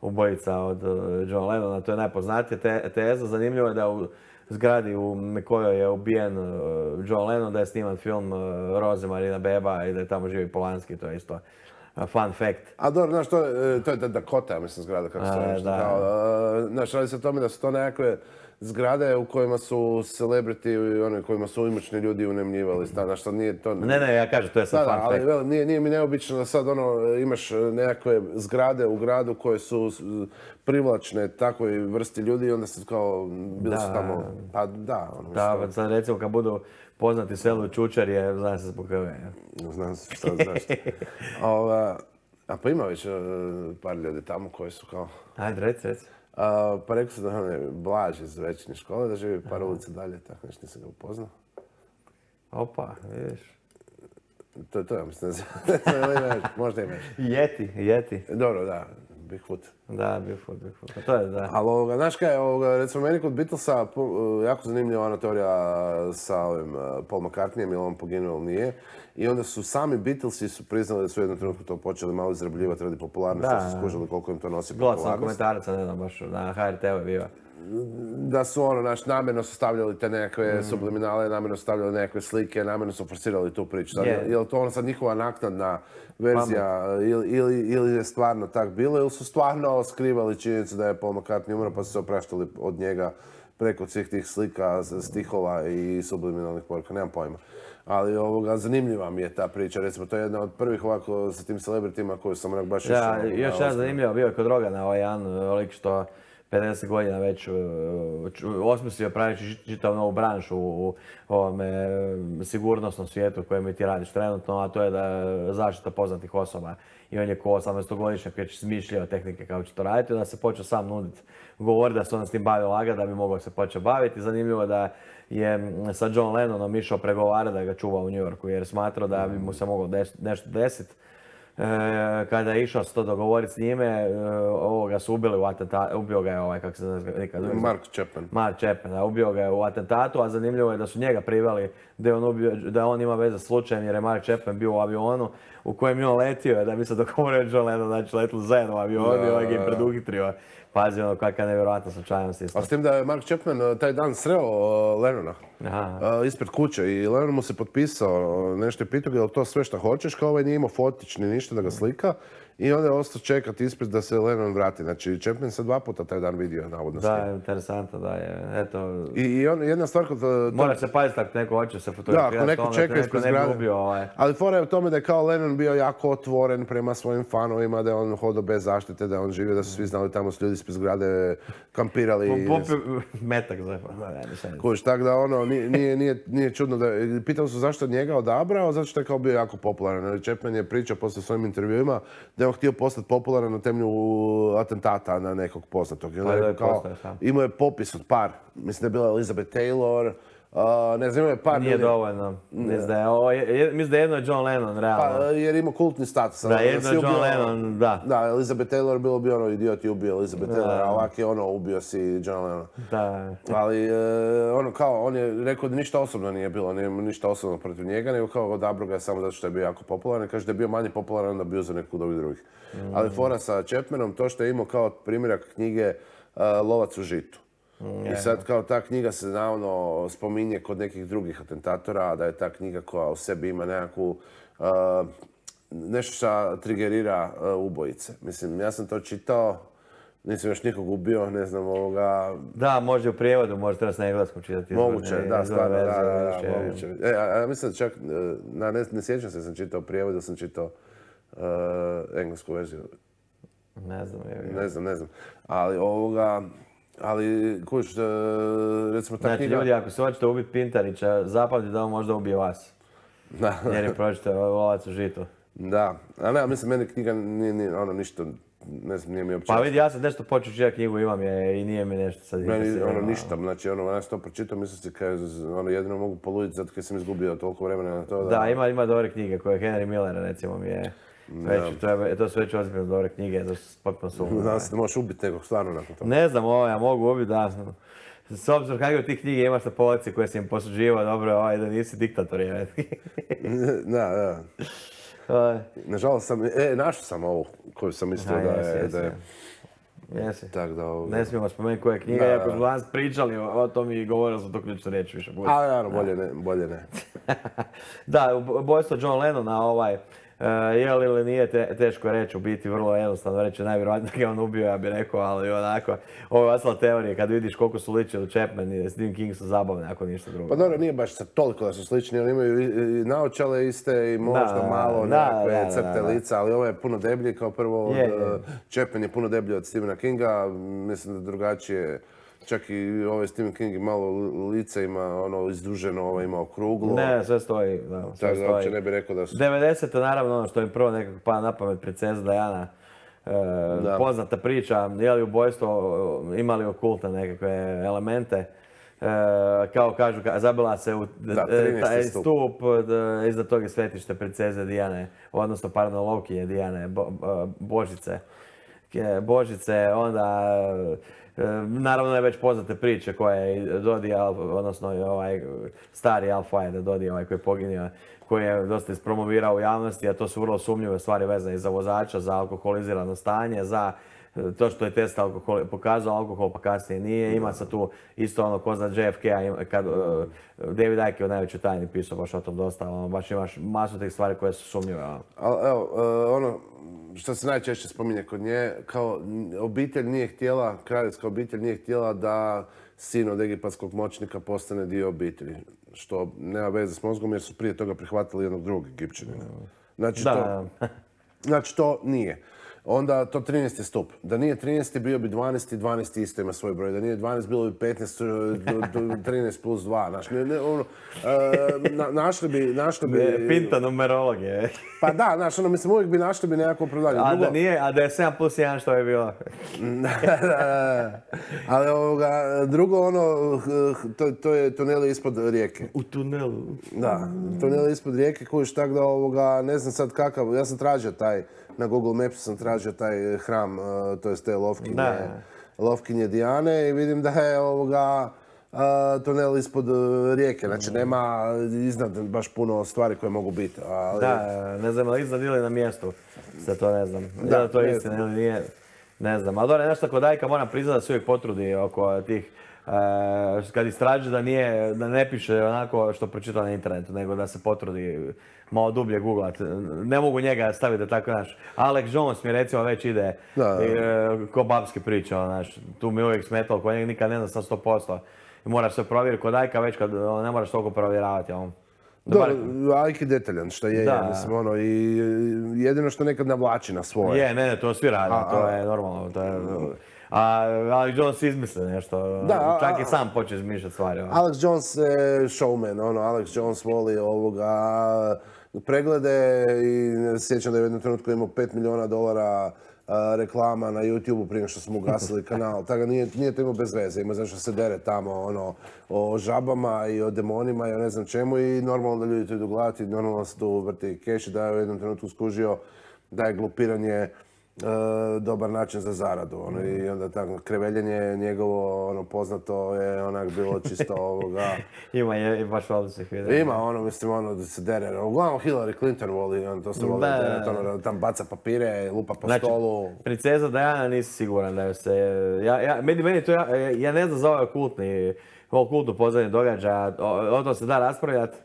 ubojica od John Lennona, to je najpoznatija teza. Zanimljivo je da u zgradi u kojoj je ubijen John Lennon, da je sniman film Roze Marina Beba i da je tamo živi Polanski, to je isto fun fact. A dobro, znaš, to je Dakota, mislim, zgrada, kako se nešto. Znaš, radi se o tome da su to nekakve zgrade u kojima su celebrity i one kojima su imućni ljudi unemljivali. Znaš, što nije to... Ne, ja kažem, to je sad fun fact. Ali nije mi neobično da sad imaš nekakve zgrade u gradu koje su privlačne takvoj vrsti ljudi i onda se kao bili su tamo... Pa da, da, sad recimo kad budu poznati selu Čučarje, zna se zbog kave. Znam se šta zašto. A pa ima već par ljudi tamo koji su kao... Ajde, reci. Pa rekao sam da on je Blaž iz Večernje škole, da živi par ulica dalje, tako nešto nisam ga upoznao. Opa, vidiš. To ja mislim, možda imaš. Yeti. Dobro, da, Bigfoot. Da, Bigfoot, pa to je, da. Ali znaš kaj, recimo meni kod Beatlesa jako zanimljiva ona teorija sa ovim Paul McCartneyem, ili on poginuo ili nije. I onda su sami Beatlesi su priznali da su u jednom trenutku to počeli malo izrabljivati radi popularnosti, da su skužili koliko im to nosi popularnost. Gledao sam komentaraca, ne znam, baš na HRT-u je bio. Da su namjerno su stavljali te nekakve subliminale, namjerno su stavljali nekakve slike, namjerno su forsirali tu priču. Je li to ono sad njihova naknadna verzija ili je stvarno tak bilo ili su stvarno skrivali činjenicu da je Paul McCartney umro pa su se opraštali od njega preko svih tih slika, stihova i subliminalnih poruka, nemam pojma. Ali zanimljiva mi je ta priča, recimo to je jedna od prvih ovako sa tim celebritima koju sam onak baš išao. Da, još jedan zanimljivo bio je kod Rogana, ovaj jedan lik što 50 godina već osmislio pravići čitav novu branšu u ovome sigurnosnom svijetu u kojem ti radiš trenutno, a to je da zaštita poznatih osoba. I on je ko 18-godišnjak već smišljao tehnike kako će to raditi, onda se počeo sam nuditi, govori da se on s tim bavio laga da bi mogao se početi baviti. Zanimljivo je da je sa John Lennonom išao pregovarati da ga čuva u New Yorku jer smatrao da bi mu se moglo nešto desiti. Kada je išao se to dogovoriti s njime, ovoga su ubili u atentatu, ubio ga je ovaj, kako se zove nikad. Mark Chapman, da, ubio ga je u atentatu, a zanimljivo je da su njega priveli da on ima veze s slučajem jer je Mark Chapman bio u avionu u kojem je on letio, da bi se dogovorio John Lennon, znači letili zajedno u avionu i ovaj ga im preduhitrio. Pazi ono kakva nevjerojatna slučajnost isto. A s tim da je Mark Chapman taj dan sreo Lennona ispred kuće i Lennon mu se potpisao, nešto je pitao je li to sve što hoćeš, kao ovaj nije imao fotić ni ništa da ga slika i onda je ostao čekati ispred da se Lennon vrati. Znači Chapman se 2 puta taj dan vidio navodno s njim. Da, interesantno da je, eto... I jedna stvar kod... Moraš se paziti ako neko hoće se fotografirati. Da, ako neko čeka ispred zgrade. Ali fora je u tome da je kao Lennon bio jako otvoren prema svojim fanovima, da je on hodao bez zaštite, da je on živio, da su svi znali tamo su ljudi ispred zgrade kampirali. Metak za... Kuš, tako da nije čudno da... Pitali su zašto njega odabrao, zato što je kao bio jako popularan. Chapman je pričao poslije svojim intervjuima da je on htio postati popularan na temelju atentata na nekog poznatog. Imao je popis od par. Mislim da je bila Elizabeth Taylor, Ne znam, imao je par... Nije dovoljno. Mislim da je jedno je John Lennon, realno. Pa, jer ima kultni status. Da, jedno je John Lennon, da. Da, Elizabeth Taylor bilo bi ono, idiot je ubio Elizabeth Taylor, a ovak je ono, ubio si John Lennon. Da. Ali, ono kao, on je rekao da ništa osobno nije bilo, nije ništa osobno protiv njega, nego kao odabrao ga samo zato što je bio jako popularan. Kaže da je bio manje popularan, onda bio za nekog od ovih drugih. Ali fora sa Chapmanom, to što je imao kao primjerak knjige Lovac u žitu. I sad kao ta knjiga se naravno spominje kod nekih drugih atentatora, da je ta knjiga koja u sebi ima nekakvu nešto što trigerira ubojice. Mislim, ja sam to čitao, nisam još nikog ubio, ne znam ovoga... Da, može u prijevodu, može treba s na engleskom čitati. Moguće, da, stvarno, da, moguće. Ja mislim da čak, ne sjećam se da sam čitao prijevod, da sam čitao englesku verziju. Ne znam. Ali ovoga... Ali, kuć, recimo ta knjiga... Znači, ljudi, ako se hoćete ubiti Pintarića, zapamtite da on možda ubije vas. Da. Jer je pročitao Lovac u žitu. Da. A ne, mislim, meni knjiga nije ono ništa, ne znam, nije mi uopće... Pa vidi, ja sam nešto počeo čitati knjigu, imam je i nije mi nešto sad... Meni ono ništa, znači ono, ja sam to pročitao, mislim si kaj, ono, jedino mogu poluditi zato kaj sam izgubio toliko vremena na to da... Da, ima dobre knjige koje Henry Miller, recimo, mi je... To su već ozbiljno dobre knjige, to su potpuno sumnje. Znam se da možeš ubiti nekog stvarno nakon toga. Ne znam, ja mogu ubiti, da. S obzirom kakve ti knjige imaš na polici koje si im posuđivao, dobro, da nisi diktator, je. Da. Nažalost sam, našao sam ovu koju sam mislio da je... Jesi. Tak da ovo... Ne smijemo spomenuti koja je knjiga, iako smo danas pričali o tom i govorili smo to ključno reći više. A, naravno, bolje ne. Da, ubojstvo John Lennona, je li ili nije, teško reći, u biti vrlo jednostavno reći, najvjerojatnije ga on ubio, ja bih rekao, ali onako, ovo je ostala teorija, kad vidiš koliko su ličili Chapman i Stephen King su zabavne, ako ništa drugo. Pa dobro, nije baš toliko da su slični, oni imaju i naočale iste i možda malo nekakve crte lica, ali ovo je puno deblji, kao prvo, Chapman je puno deblji od Stephena Kinga, mislim da drugačije. Čak i ovaj Stephen King malo lice ima ono izduženo, ovo ima okruglo. Ne, sve stoji. Tako da uopće ne bih rekao da su... 90. naravno ono što mi prvo nekako pada na pamet, princeza Diana. Poznata priča, je li ubojstvo, imali okultne nekakve elemente. Kao kažu, zabila se u taj stup, iznad toga je svetište princeze Dijane, odnosno pardon, Lovkinje Dijane, Božice, onda... Naravno je već poznate priče koje je Dodi, odnosno stari Al-Fayed, Dodi koji je poginio, koji je dosta ispromovirao u javnosti, a to su vrlo sumnjive stvari vezane za vozača, za alkoholizirano stanje, za to što je test pokazao alkohol pa kasnije nije. Ima se tu isto ono ko zna JFK-a, kad David Icke je u Najvećoj tajni pisao baš o tom dosta, baš imaš masu tih stvari koje su sumnjive. Evo, ono što se najčešće spominje kod nje, kao obitelj nije htjela, kraljevska obitelj nije htjela da sin od egipatskog moćnika postane dio obitelji. Što nema veze s mozgom jer su prije toga prihvatili jednog drugog Egipćanina. Znači to nije. Onda to 13. stup. Da nije 13. bio bi 12. 12. isto ima svoj broj. Da nije 12. bilo bi 15. 13 plus 2. Našli bi... Pinta numerologije. Pa da, znaš, mislim, uvijek bi našli bi nekako opravdanje. A da je 7 plus 1 što je bilo. Ali drugo, to je tuneli ispod rijeke. U tunelu. Da, tuneli ispod rijeke kojiš tak da ne znam sad kakav, ja sam tražio taj, na Google Mapsu sam tražio taj hram, to jest te Lovkinje Dijane i vidim da je tunel ispod rijeke, znači nema iznad baš puno stvari koje mogu biti. Da, ne znam, ali iznad ili na mjestu, sve to ne znam. Da, to je istina ili nije, ne znam. Ali dobro, nešto kod Ajka moram priznati da se uvijek potrudi oko tih, kad istraži da ne piše onako što pročita na internetu, nego da se potrudi malo dublje googlat. Ne mogu njega staviti da tako, znaš. Alex Jones mi recimo već ide ko babske priče, znaš. Tu mi uvijek smetalo, ko njega nikad ne znam 100%. I moraš se provjeriti kod Ajka već kad ne moraš toliko provjeravati. Dobro, Ajk je detaljan, što je, mislim, i jedino što nekad navlači na svoje. Ne, to svi rade, to je normalno. Ali Jones izmisli nešto, čak i sam počne izmišljati stvari. Alex Jones je showman, Alex Jones voli preglede i sjećam da je u jednom trenutku imao $5 milijuna reklama na YouTube-u prije što smo ugasili kanal. Tako nije to imao bez veze. Ima znači što se dere tamo o žabama i o demonima i o ne znam čemu i normalno da ljudi to idu gledati, normalno se tu vrti keš i da je u jednom trenutku skužio da je glupiranje dobar način za zaradu. I onda tako kreveljenje njegovo poznato je onak bilo čisto ovoga... Ima je baš odličnih videa. Ima mislim da se dere. Uglavnom Hillary Clinton voli, to se voli dere, da tam baca papire, lupa po stolu. Princeza Diana nisi siguran da je se... Meni to ja ne znam za ovaj kultnu pozadnje događaja, o to se da raspravljati.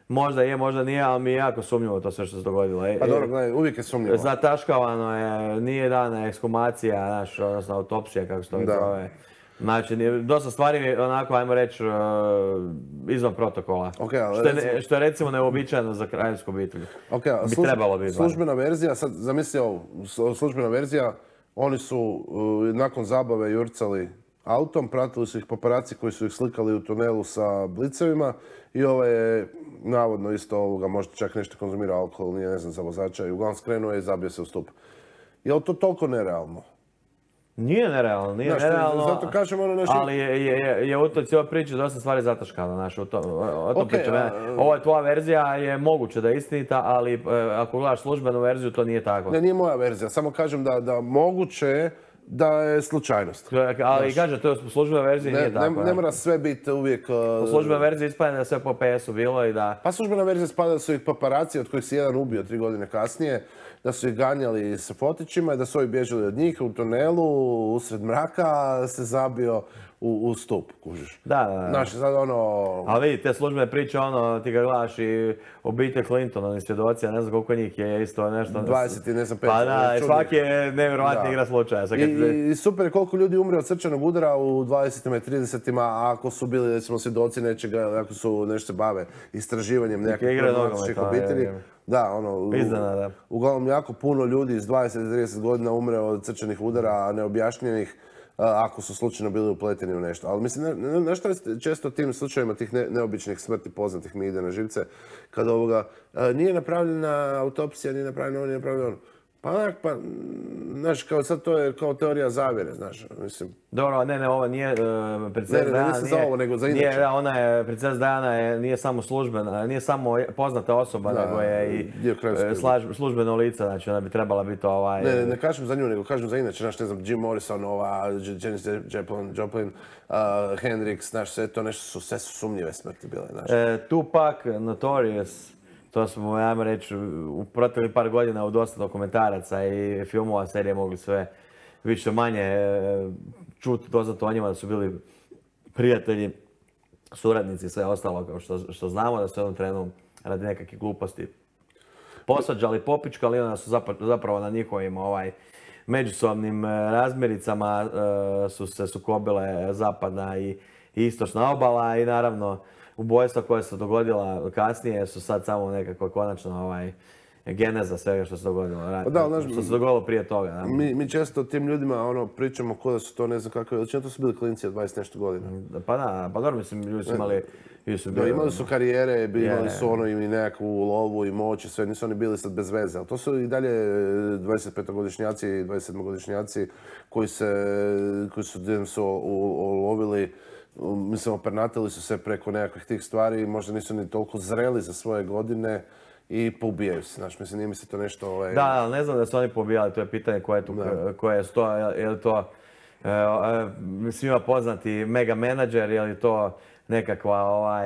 Možda je, možda nije, ali mi je jako sumnjivo to sve što se dogodilo. Pa dobro, gledaj, uvijek je sumnjivo. Zataškavano je, nije dana ekshumacija, odnosno autopsija, kako se to zove. Znači, dosta stvari je onako, ajmo reći, izvan protokola. Što je recimo neuobičajeno za kraljevsku obitelj. Bi trebalo biti. Službena verzija, sad zamisli ovo, službena verzija, oni su nakon zabave jurcali autom, pratili su ih paparaci koji su ih slikali u tunelu sa blicevima i ovo je navodno isto ovoga, možda čak nešto konzumirao alkohol, nije ne znam za vozača i uglavnom skrenuo je i zabio se u stup. Je li to toliko nerealno? Nije nerealno, nije nerealno, zato kažem nešto... ali je u toj cijeloj priči dosta stvari zataškano, o tom pričam. Ova tvoja verzija je moguće da je istinita, ali ako gledaš službenu verziju, to nije tako. Ne, nije moja verzija, samo kažem da moguće je da je slučajnost. Ali kažem, to je u službenoj verziji nije tako. Ne mora sve biti uvijek... U službenoj verziji ispada da je sve po PS-u bilo i da... Pa službena verzija ispada da su ih paparaci, od kojih se jedan ubio 3 godine kasnije, da su ih ganjali sa fotićima i da su ovi bježali od njih u tunelu, usred mraka se zabio u stup, kužiš. Da. Znaš, sad Ali vidi, te službene priče, ti ga gledaš i obitelj Clinton, oni svjedoci, ne znam koliko njih je isto nešto... 20 i ne znam 5. Pa da, svaki je nevjerovatni igra slučaja. I super je koliko ljudi umre od srčanog udara u 20-ima i 30-ima, ako su bili, recimo, svjedoci nečega, ako su nešto se bave istraživanjem nekakvih problematičnih obitelji. Da, uglavnom jako puno ljudi iz 20-30 godina umre od srčanih udara, neobjašnjenih, ako su slučajno bili upleteni u nešto. Ali mislim, nešto je često tim slučajevima tih neobičnih smrti poznatih mi ide na živce, kada nije napravljena autopsija, nije napravljeno Pa, znaš, kao sad to je kao teorija zavjere, znaš, mislim. Dobro, ne, ovo nije princeza Diana. Ne za ovo, nego za inače. Ona je, princeza Diana nije samo službena, nije samo poznata osoba, nego je i službeno lice, znači ona bi trebala biti Ne kažem za nju, nego kažem za inače, znaš, ne znam, Jim Morrison, Janis Joplin, Hendrix, znaš, sve to nešto sve su sumnjive smrti bile, znaš. Tupac, Notorious. To smo, ajmo reći, u proteklih par godina u dosta dokumentaraca i filmova, serije mogli sve više manje čuti doznato o njima da su bili prijatelji, suradnici i sve ostalo, kao što znamo da su jednom trenu radi nekakvih gluposti posvađali, popičkali, onda su zapravo na njihovim međusobnim razmiricama su se sukobile zapadna i istočna obala i naravno ubojstva koja se dogodila kasnije su sad samo nekako konačno geneza svega što se dogodilo. Što se dogodilo prije toga. Mi često o tim ljudima pričamo kao da su to ne znam kakve veličine, to su bili klinci od 20 nešto godina. Pa da, pa dobro, mislim, ljudi su imali... Imali su karijere, imali su i nekakvu lovu i moć i sve, nisu oni bili sad bez veze. Ali to su i dalje 25-godišnjaci i 27-godišnjaci koji su ulovili, mislim, opernatili su se preko nekakvih tih stvari i možda nisu ni toliko zreli za svoje godine i poubijaju se. Znaš, mislim, nije mi se to nešto... Da, ali ne znam da su oni poubijali, to je pitanje koje je to, je li to svima poznati mega menadžer, je li to nekakva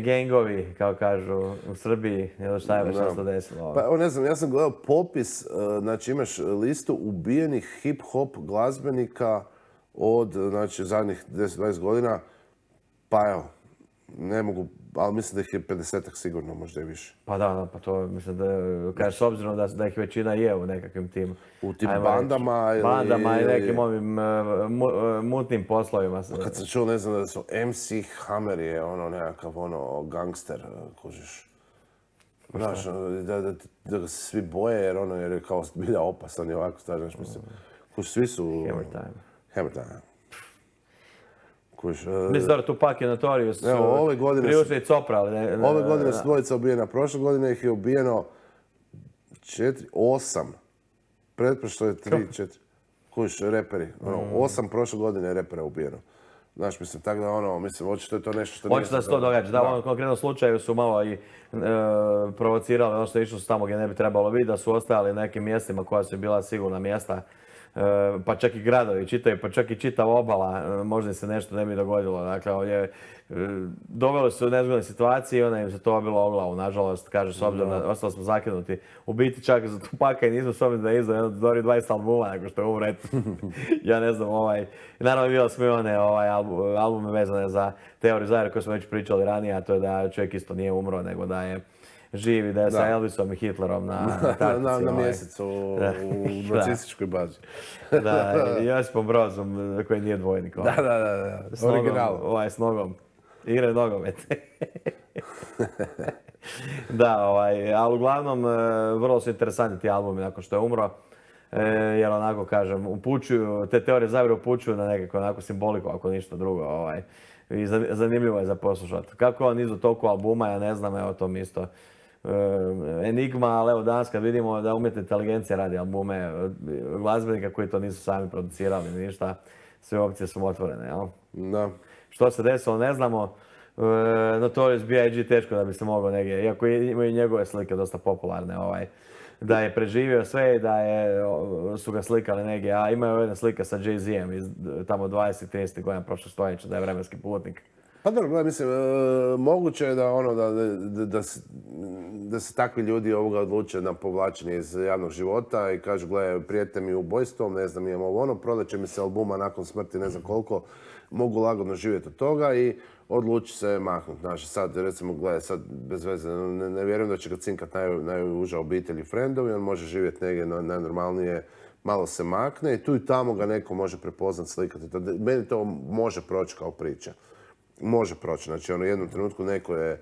gengovi, kao kažu u Srbiji, ili šta je već što se desilo? Pa ne znam, ja sam gledao popis, znači imaš listu ubijenih hip-hop glazbenika od, znači, zadnjih 10-20 godina, pa evo, ne mogu, ali mislim da ih je 50-ak sigurno, možda i više. Pa da, pa to mislim da, kažeš, s obzirom da ih većina je u nekakvim tim... U tim bandama ili... Bandama i nekim ovim mutnim poslovima. Kad sam čuo, ne znam, da su MC Hammer je nekakav gangster, kužiš. Znaš, da ga se svi boje jer je kao bilja opasan i ovako, znaš, mislim. Kužiš, svi su... Hammer time. Mislim da Tupac je Notorious, Priušli i Copra, ali... Ove godine su dvojica ubijena, prošle godine ih je ubijeno 8 Pretprošlo je 3-4. Kuš, reperi. 8 prošle godine repera ubijeno. Znaš, mislim, tako da mislim, očito je to nešto što nije... Očito da se to događa. Da, u ovom konkretnom slučaju su malo i provocirali, ono što išlo su tamo gdje ne bi trebalo biti, da su ostajali na nekim mjestima koja su bila sigurna mjesta, pa čak i gradovi čitaju, pa čak i čitava obala, možda se nešto ne bi dogodilo. Dakle, ovdje doveli su u nezgodne situacije i onda im se to bilo o glavu, nažalost, kaže, s obzirom da ostali smo zakinuti. U biti čak za Tupaka i nismo s obzirom da je izdao 20 albuma nakon što je umro. Ja ne znam, naravno bilo smo i one albume vezane za teoriju zavjere koje smo već pričali ranije, a to je da čovjek isto nije umro, nego da je živi, da je sa Elvisom i Hitlerom na taktici. Na mjesecu u nacističkoj bazi. Da, Josipom Brozom koji nije dvojnik. Da. Original. S nogom. Igre nogomet. Da, ali uglavnom vrlo su interesantni ti albumi nakon što je umro. Jer onako kažem, upućuju, te teorije zavjere upućuju na nekako onako simboliku, ako ništa drugo. I zanimljivo je za poslušati. Kako on izdao toliko albuma, ja ne znam, evo to mi isto enigma, ali evo danas kad vidimo da umjetna inteligencija radi albume glazbenika koji to nisu sami producirali, ništa, sve opcije su otvorene, jel? Da. Što se desilo, ne znamo. Notorious B.I.G. teško da bi se mogao negdje, iako imaju njegove slike dosta popularne, da je preživio sve i da su ga slikali negdje, a imaju jedna slika sa Jay-Z-em iz tamo 20-30 godina prošlog stoljeća, da je vremenski putnik. Pa dobro, mislim, moguće je da se takvi ljudi odluče na povlačenje iz javnog života i kažu, gle, prijete mi ubojstvom, ne znam, imam prodat će mi se albuma nakon smrti, ne znam koliko, mogu lagodno živjeti od toga i odluči se maknuti. Znači, sad, recimo, gledaj, sad, bez veze, ne vjerujem da će ga cinkat najuža obitelj i frendovi, on može živjeti negdje najnormalnije, malo se makne i tu i tamo ga neko može prepoznat, slikati. Meni to može proći kao priča. Može proći. Znači, u jednom trenutku neko je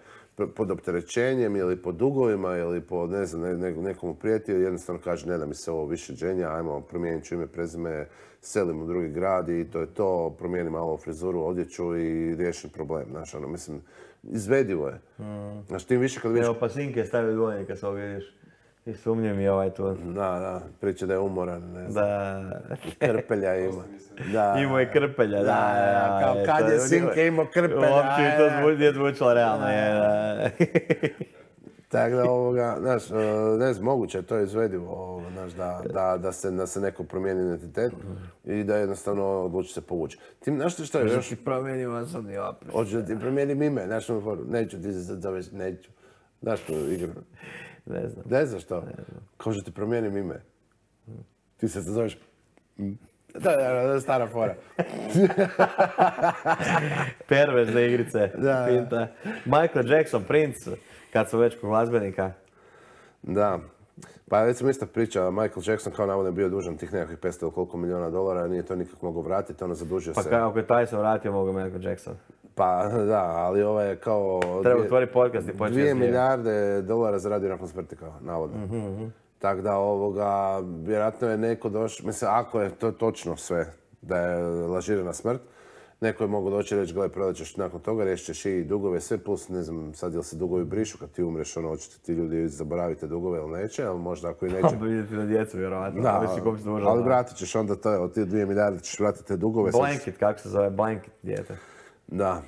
pod opterećenjem ili pod dugovima ili po, ne znam, nekomu prijeti i jednostavno kaže ne da mi se ovo više dženja, ajmo, promijenit ću ime, prezime, selim u drugi grad i to je to, promijeni malo frizuru, odjeću i riješen problem. Znaš, mislim, izvedivo je. Znači, tim više kad vidiš... Evo, pa sinke stavio dvojnik kad se ovo vidiš. I sumnjim i tu. Da, priča da je umoran, ne znam. Da. Krpelja ima. Imao je krpelja, da. Kao kad je sinke imao krpelja. Uopće mi to nije zvučalo realno, Tako da, znaš, ne znam, moguće je to izvedivo, znaš, da se neko promijeni identitet i da jednostavno odluči se povući. Znaš što je još? Hoćeš ti promijenim osobni opis. Hoću da ti promijenim ime, znaš što mi foru, neću, ti se sad zoveš, neću. Znaš tu igru? Ne znam. Ne znaš što? Kao što ti promijenim ime. Ti se zoveš... Da, stara fora. Perverzne igrice. Pinta. Michael Jackson, Prince, kad su već kod glazbenika. Da. Pa recimo ista priča, Michael Jackson kao navodno je bio dužan tih nekakvih 500 ili koliko milijuna dolara, nije to nikak mogao vratiti, ono zadužio se. Pa kako je taj se vratio, mogu Michael Jackson. Pa da, ali ovo je kao... Treba otvoriti podcast i početi 2 milijarde dolara zaradio nakon smrti kao, navodno. Tako da vjerojatno je neko došao, mislim, ako je to točno sve, da je lažirana smrt, neko je mogao doći i reći, gledaj, prodat ćeš nakon toga, riješit ćeš i dugove, sve plus, ne znam, sad jel se dugovi brišu kad ti umreš, hoćete ti ljudi zaboravite dugove ili neće, ali možda ako i neće... Pa vidjeti na djecu, vjerovatno. Da, ali vratit ćeš onda od ti 2 milijarde, ćeš vratiti te dugove. Blanket, kako se zove, Blanket djete. Da.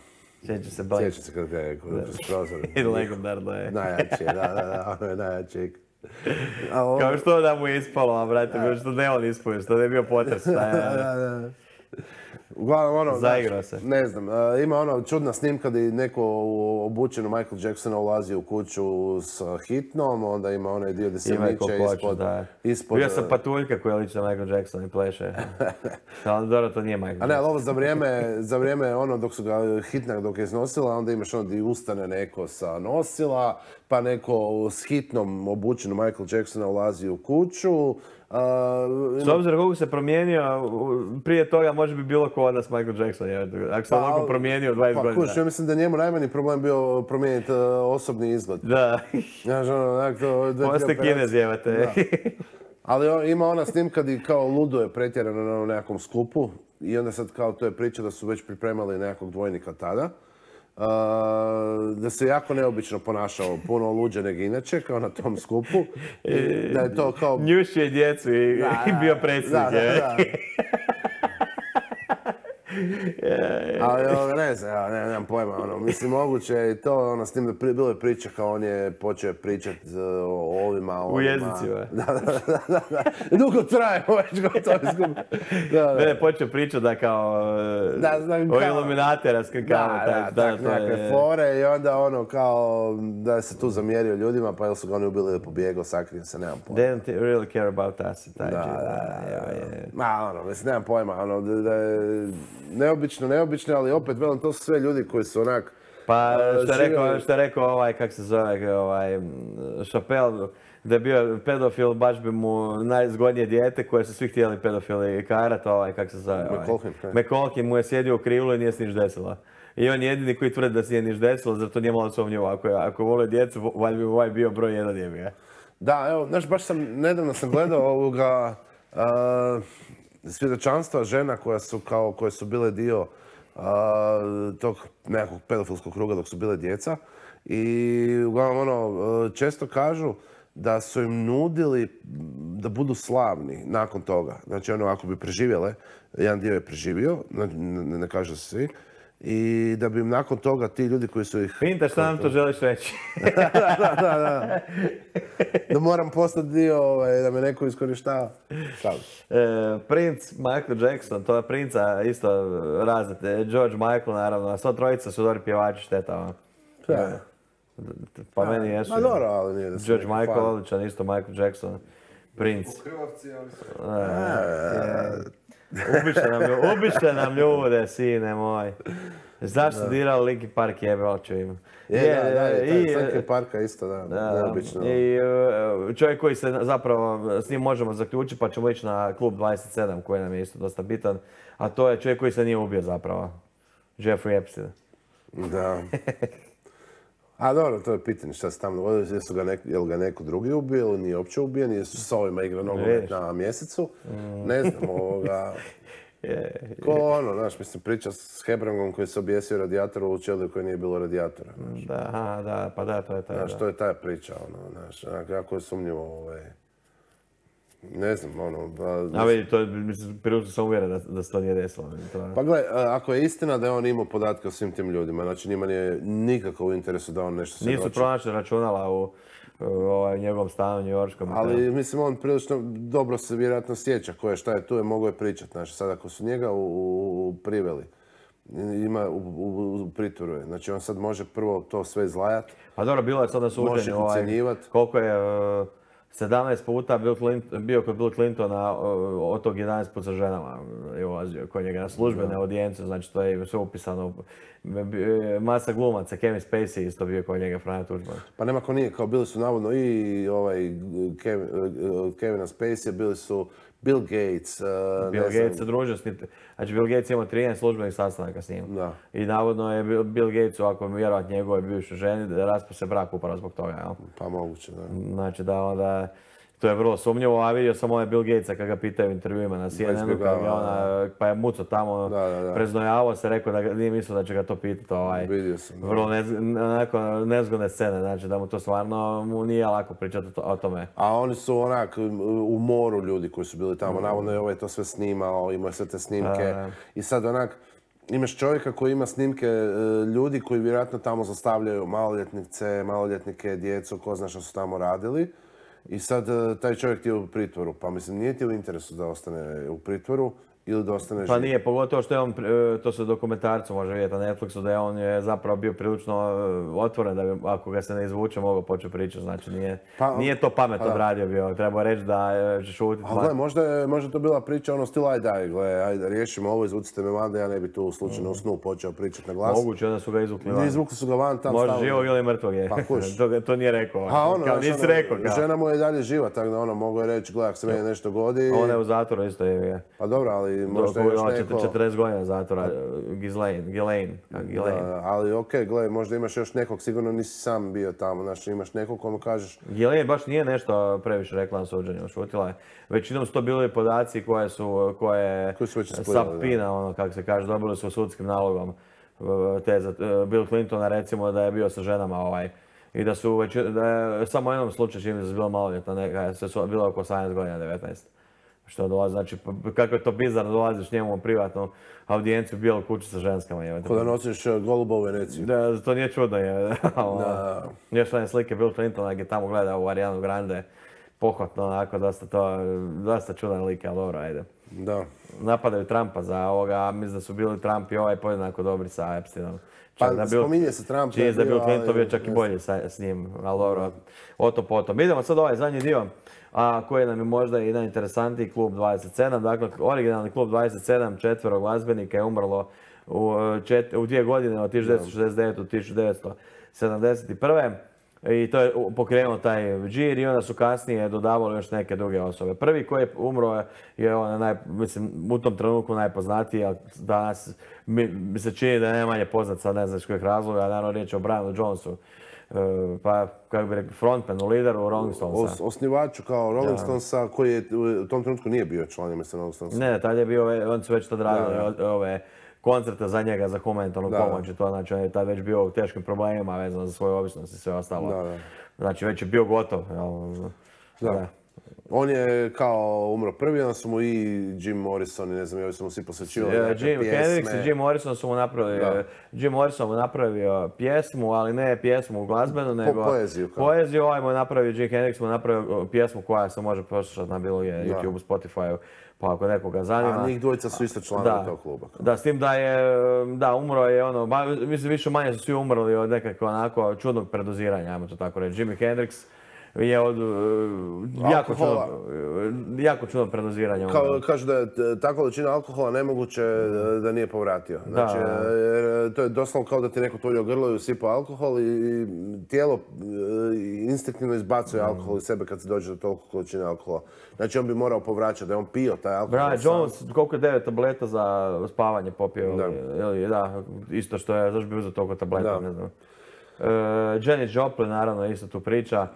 Sjeća se Blanket. Sjeća se kad je kroz prozor. I legendarno je. Najjači je, da, ono je najjači. Kao što da mu je ispalo, a brate, što ne on ispao, što ne je bio potres. Da. Uglavnom, zaigrao se. Ne znam, ima čudna snimka gdje neko obučen u Michael Jacksona ulazi u kuću s hitnom, onda ima onaj dio gdje se miče ispod... Bio sam patuljka koja liči na Michael Jackson i pleše. Ali dobro, to nije Michael Jackson. A ne, ali ovo za vrijeme dok su ga hitna dok je iznosila, onda imaš gdje ustane neko sa nosila, pa neko s hitnom obučen u Michael Jacksona ulazi u kuću. S obzirom koliko se promijenio, prije toga može bi bilo ko od nas Michael Jackson. Ako se onoliko promijenio 20 godina. Ja mislim da je njemu najmanji problem bio promijeniti osobni izgled. Da. Poste Kinez jevate. Ali ima ona snimka gdje kao ludo je pretjerano na nekakvom skupu i onda sad kao to je priča da su već pripremali nekakvog dvojnika tada. da se jako neobično ponašao, puno luđe nego inače, kao na tom skupu. I da je to kao... Njušio djecu i bio predsjednik. Ali ne znam, nemam pojma, mislim moguće i to, s tim da bilo je priča kao on je počeo pričati o ovima, u jezicima. Da. Dugo traje, već gotovo izgubi. Ne, počeo pričati da kao o Illuminati raskrkavao. Da, nekakve fore i onda kao da se tu zamjerio ljudima, pa ili su ga oni ubili ili pobjegao, sakrio se, nemam pojma. They don't really care about us. Mislim, nemam pojma, da je neobično, ali opet, velim, to su sve ljudi koji su onak... Pa, što je rekao kak se zove, Chappelle, da je bio pedofil, baš bi mu najzgodnije dijete koje su svi htjeli pedofili karat, kak se zove, McColkin mu je sjedio u krivlu i nije se niš desilo. I on je jedini koji tvrdi da se nije niš desilo, zato nije malo sumnjivo. Ako vole djecu, valjda bi ovaj bio broj 1 jebiga. Da, evo, znaš, baš nedavno sam gledao svjedočanstva žena koje su bile dio tog nekakvog pedofilskog kruga dok su bile djeca. I uglavnom često kažu da su im nudili da budu slavni nakon toga. Znači ako bi preživjele, jedan dio je preživio, ne kažu se svi, i da bi im nakon toga ti ljudi koji su ih... Pinta, šta nam to želiš reći? Da. Da moram postati dio, da me neko iskorištava. Princ Michael Jackson, to je princa isto razete. George Michael, naravno, a sva trojica su dobri pjevači, šteta. Pa meni jesu. Ma dobro, ali nije da su... George Michael, odličan, isto Michael Jackson. Princ. Ubiše nam ljude, sine moj. Zašto su dirali Linkin Park, jebe oču ima. Linkin Parka isto, neobično. I čovjek koji se zapravo, s njim možemo zaključiti, pa ćemo ići na klub 27 koji nam je isto dosta bitan, a to je čovjek koji se nije ubio zapravo. Jeffrey Epstein. Da. A dobro, to je pitanje šta se tamo dogodilo, je ga neko drugi ubio ili nije uopće ubijen, jesu s ovima igra nogomet na mjesecu. Ne znam, ko znaš, mislim, priča s Hebrangom koji se objesio radijatoru u ćeliju koji nije bilo radijatora. Da, pa da, to je taj. Znaš, to je ta priča, znaš, jako je sumnjivo, ne znam, A vidi, to je, mislim, prilično sam uvjeren da se to nije desilo. Pa gledaj, ako je istina da je on imao podatke o svim tim ljudima, znači njima nije nikako u interesu da on nešto svjedoči. Nisu pronašli računala u njegovom stanu njujorškom. Ali, mislim, on prilično dobro se vjerojatno sjeća šta je tu, mogo je pričat. Znači, sad ako su njega priveli, ima u pritvoru je. Znači, on sad može prvo to sve izlajat. Pa dobro, bilo je sad na suđenju. Može ih ucenjivat. Koliko je... 17 puta bio kod Bill Clintona, od tog 11 put sa ženama je ulazio kod njega na službene audijencije, znači to je sve upisano. Masa glumaca, Kevin Spacey isto bio kod njega, Franjo Tuđman. Pa nema ko nije, kao bili su navodno i Kevina Spacey, bili su Bill Gates. Bill Gates se družio s njim. Znači Bill Gates ima 13 službenih sastanaka s njim. Da. I navodno je Bill Gatesu, ako vjerovat njegove bivše ženi, raspao se brak upravo zbog toga, jel? Pa moguće, da. Znači da onda... To je vrlo sumnjivo, a vidio sam Bill Gatesa kada ga pitaju u intervjuima na CNN-u, pa je muco tamo preznojavao se, rekao da nije mislio da će ga to pitati. Vidio sam. Vrlo nezgodne scene, znači da mu to stvarno nije lako pričati o tome. A oni su onak u moru ljudi koji su bili tamo, navodno je ovaj to sve snimao, imao sve te snimke i sad onak imaš čovjeka koji ima snimke ljudi koji vjerojatno tamo zastavljaju maloljetnike, djecu, ko zna što su tamo radili. I sad taj čovjek ti je u pritvoru, pa mislim nije ti u interesu da ostane u pritvoru ili da ostane živ? Pa nije, pogotovo što je on, to se u dokumentarcu može vidjeti na Netflixu, da je on zapravo bio prilično otvoren, da bi ako ga se ne izvuče mogao početi pričati, znači nije to pametno odradio bio, treba reći da će šutiti. A gle, možda to bila priča stila ajde riješimo ovo, izvucite me van da ja ne bi tu slučajno u snu počeo pričati na glas. Moguće, onda su ga izvukli van. Izvukli su ga van, tam stavili. Može živog ili mrtvog je. Pa kuš. To nije rekao. Kao nisi rekao. Žena mu je dalje živa, tako da mogu je reći, gledaj, ako se meni nešto godi. Ona je u zatvoru isto je. Pa dobro, ali možda još neko... 40 godina zatvora, Ghislaine. Ali okej, gledaj, možda imaš još nekog, sigurno nisi sam bio tamo, znači imaš nekog komu kažeš... Ghislaine baš nije nešto previše rekla na suđenju, šutila je. Većinom su to bili podaci koje je Sapina, kako se kaže, dobili su sudskim nalogom. teza Bill Clintona recimo da je bio sa ženama i da su da je samo u jednom slučaju čini da su bila maloljetna, bila oko 18 godina, 19. Što dolazi, znači kako je to bizarno, dolaziš njemu u privatnu audijenciju u bijelu kuću sa ženskama. Ko da nosiš goluba u Veneciju. Da, to nije čudno. Još one slike Bill Clintona gdje tamo gleda u Arianu Grande, pohvatno onako, dosta čudan lik, ali dobro, ajde. Da. Napadaju Trumpa za ovoga, mislim da su bili Trump i podjednako dobri sa Epsteinom. Pa spominje se Trump. Čini da je Bill Clinton bio čak i bolji s njim, ali dobro, o to potom. Idemo sad ovaj zadnji dio, koji nam je možda i najinteresantniji, Klub 27. Dakle, originalni Klub 27, 4 glazbenika je umrlo u 2 godine, od 1969. do 1971. I to je pokrenuo taj džir i onda su kasnije dodavali još neke druge osobe. Prvi koji je umro je mislim, u tom trenutku najpoznatiji, ali danas mi se čini da je najmanje poznat, sad ne znam iz kojih razloga, naravno riječ je o Brianu Jonesu. Pa, kako bi rekli, frontmanu, lideru Rolling Stonesa. Osnivaču kao Rolling Stonesa, koji je u tom trenutku nije bio član mislim Rolling Stonesa. Ne, tad je bio, oni su već tad radili ove koncerte za njega, za humanitarnu pomoć i to, znači on je tad već bio u teškim problemima vezano za svoju ovisnost i sve ostalo. Znači već je bio gotov. Da. On je kao umro prvi, onda su mu i Jim Morrison i ne znam, ovi su mu svi posvećivali neke pjesme. Hendrix i Jim Morrison su mu napravili, Jim Morrison mu napravio pjesmu, ali ne pjesmu glazbenu, nego poeziju. Ovaj mu je napravio, Jim Hendrix mu napravio pjesmu koja se može poslušati na bilo YouTube, Spotify, pa ako nekoga zanima. A njih dvojica su isto članovi tog kluba. Da, s tim da umro je mislim više manje su svi umrli od nekakve onako čudnog predoziranja, ajmo to tako reći. Jimi Hendrix je od jako čudno predoziranje. Kažu da je ta količina alkohola nemoguće da nije povratio. Znači, to je doslovno kao da ti neko tulio grlo i usipao alkohol i tijelo instinktivno izbacuje alkohol iz sebe kad se dođe do toliko količine alkohola. Znači, on bi morao povraćati, da je on pio taj alkohol. Brian Jones, koliko je 9 tableta za spavanje popio? Da, isto što je, zašto bi uzeo toliko tableta, ne znam. Janis Joplin naravno isto tu priča,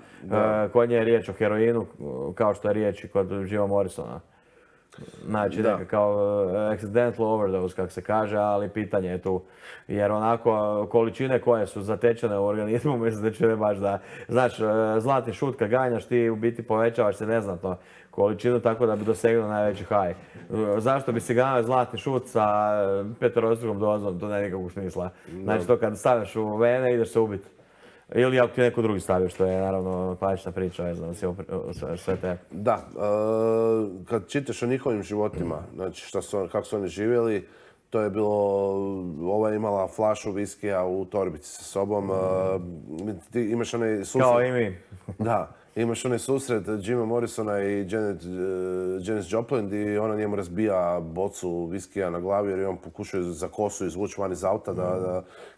kod nje je riječ o heroinu kao što je riječ i kod Jima Morrisona. Znači neka kao accidental overdose kako se kaže, ali pitanje je tu. Jer onako količine koje su zatečene u organizmu mislim da će baš da... Znaš, zlatni šut kad ganjaš ti u biti povećavaš se neznatno količinu tako da bi dosegnuo najveći high. Zašto bi si ganjao zlatni šut sa peterostrukom dozom, to nema nikakvog smisla. Znači to kad stavljaš u vene ideš se ubiti. Ili ako ti neko drugi stavio, što je naravno klasična priča, ne znam, sve te. Da, kad čitaš o njihovim životima, znači kako su oni živjeli, to je bilo, ova je imala flašu viskija u torbici sa sobom, ti imaš onaj susret. Kao i mi. Da, imaš onaj susret Jima Morrisona i Janis Joplin i ona njemu razbija bocu viskija na glavi jer je on pokušao za kosu izvući van iz auta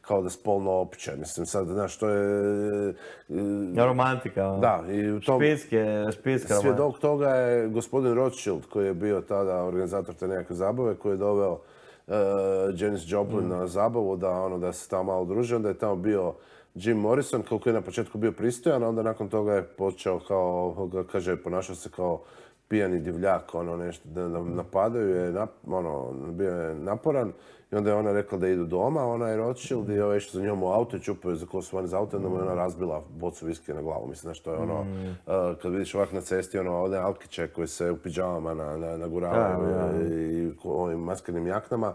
kao da spolno opiče. Mislim sad, znaš, to je... Romantika. Da. I u tom špiska svjedok toga je gospodin Rothschild koji je bio tada organizator te nekakve zabave koji je doveo Janis Joplin na zabavu da se tamo malo druže. Onda je tamo bio Jim Morrison, koliko je na početku bio pristojan, a onda nakon toga je počeo kao, kaže, ponašao se kao pijani divljak, nešto, da napadaju, bio je naporan. I onda je ona rekla da idu doma, ona je Rothschild i je išao za njom u auto i čupao je za kosu van iz auta, onda mu je ona razbila bocu viskija na glavu. Mislim, što je kad vidiš ovak na cesti, one alkiće koje se u pidžamama naguravaju i ovim maskernim jaknama,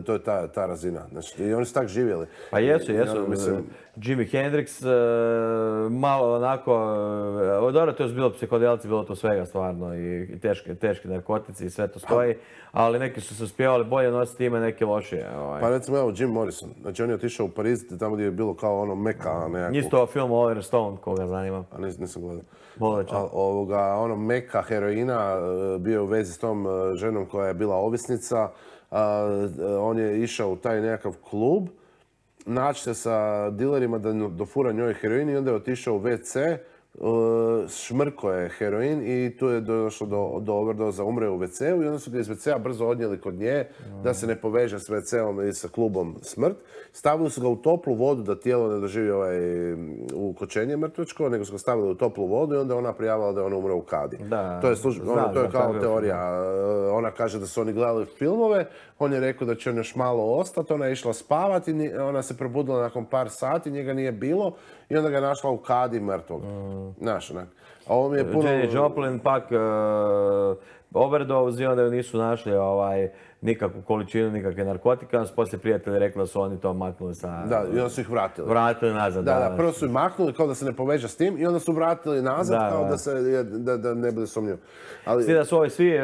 to je ta razina. Znači, i oni su tak živjeli. Pa jesu. Jimi Hendrix, malo onako, dobro, to je bilo psihodelici, bilo to svega stvarno i teški narkotici i sve to stoji, ali neki su se uspjevali bolje nositi ime, neki lošije. Pa recimo evo Jim Morrison, znači on je otišao u Pariz, tamo gdje je bilo kao Meka nekako. Isto film Oliver Stone, koga zanima. A nisam gledao. Meka heroina, bio je u vezi s tom ženom koja je bila ovisnica. On je išao u taj nekakav klub, naći se sa dilerima da dofura njoj heroin i onda je otišao u WC, šmrko je heroin i tu je došlo do overdoza, umre u WC-u i onda su ga iz WC-a brzo odnijeli kod nje da se ne poveže s WC-om i sa klubom smrt. Stavili su ga u toplu vodu da tijelo ne doživi ukočenje mrtvačko, nego su ga stavili u toplu vodu i onda ona prijavila da je ona umre u kadi. To je kao teorija. Ona kaže da su oni gledali filmove, on je rekao da će on još malo ostati, ona je išla spavati, ona se probudila nakon par sati, njega nije bilo i onda ga je našla u kadi mrtvog. Znaš, onak. A ovo mi je puno... Jenny Joplin pak overdose i onda ju nisu našli nikakvu količinu, nikakve narkotika. Onda su poslije prijatelji rekli da su oni to maknuli sa... Da, i onda su ih vratili. Vratili nazad, da. Prvo su ih maknuli kao da se ne poveže s tim i onda su vratili nazad kao da ne bude sumnjivo. Svi da su ovi svi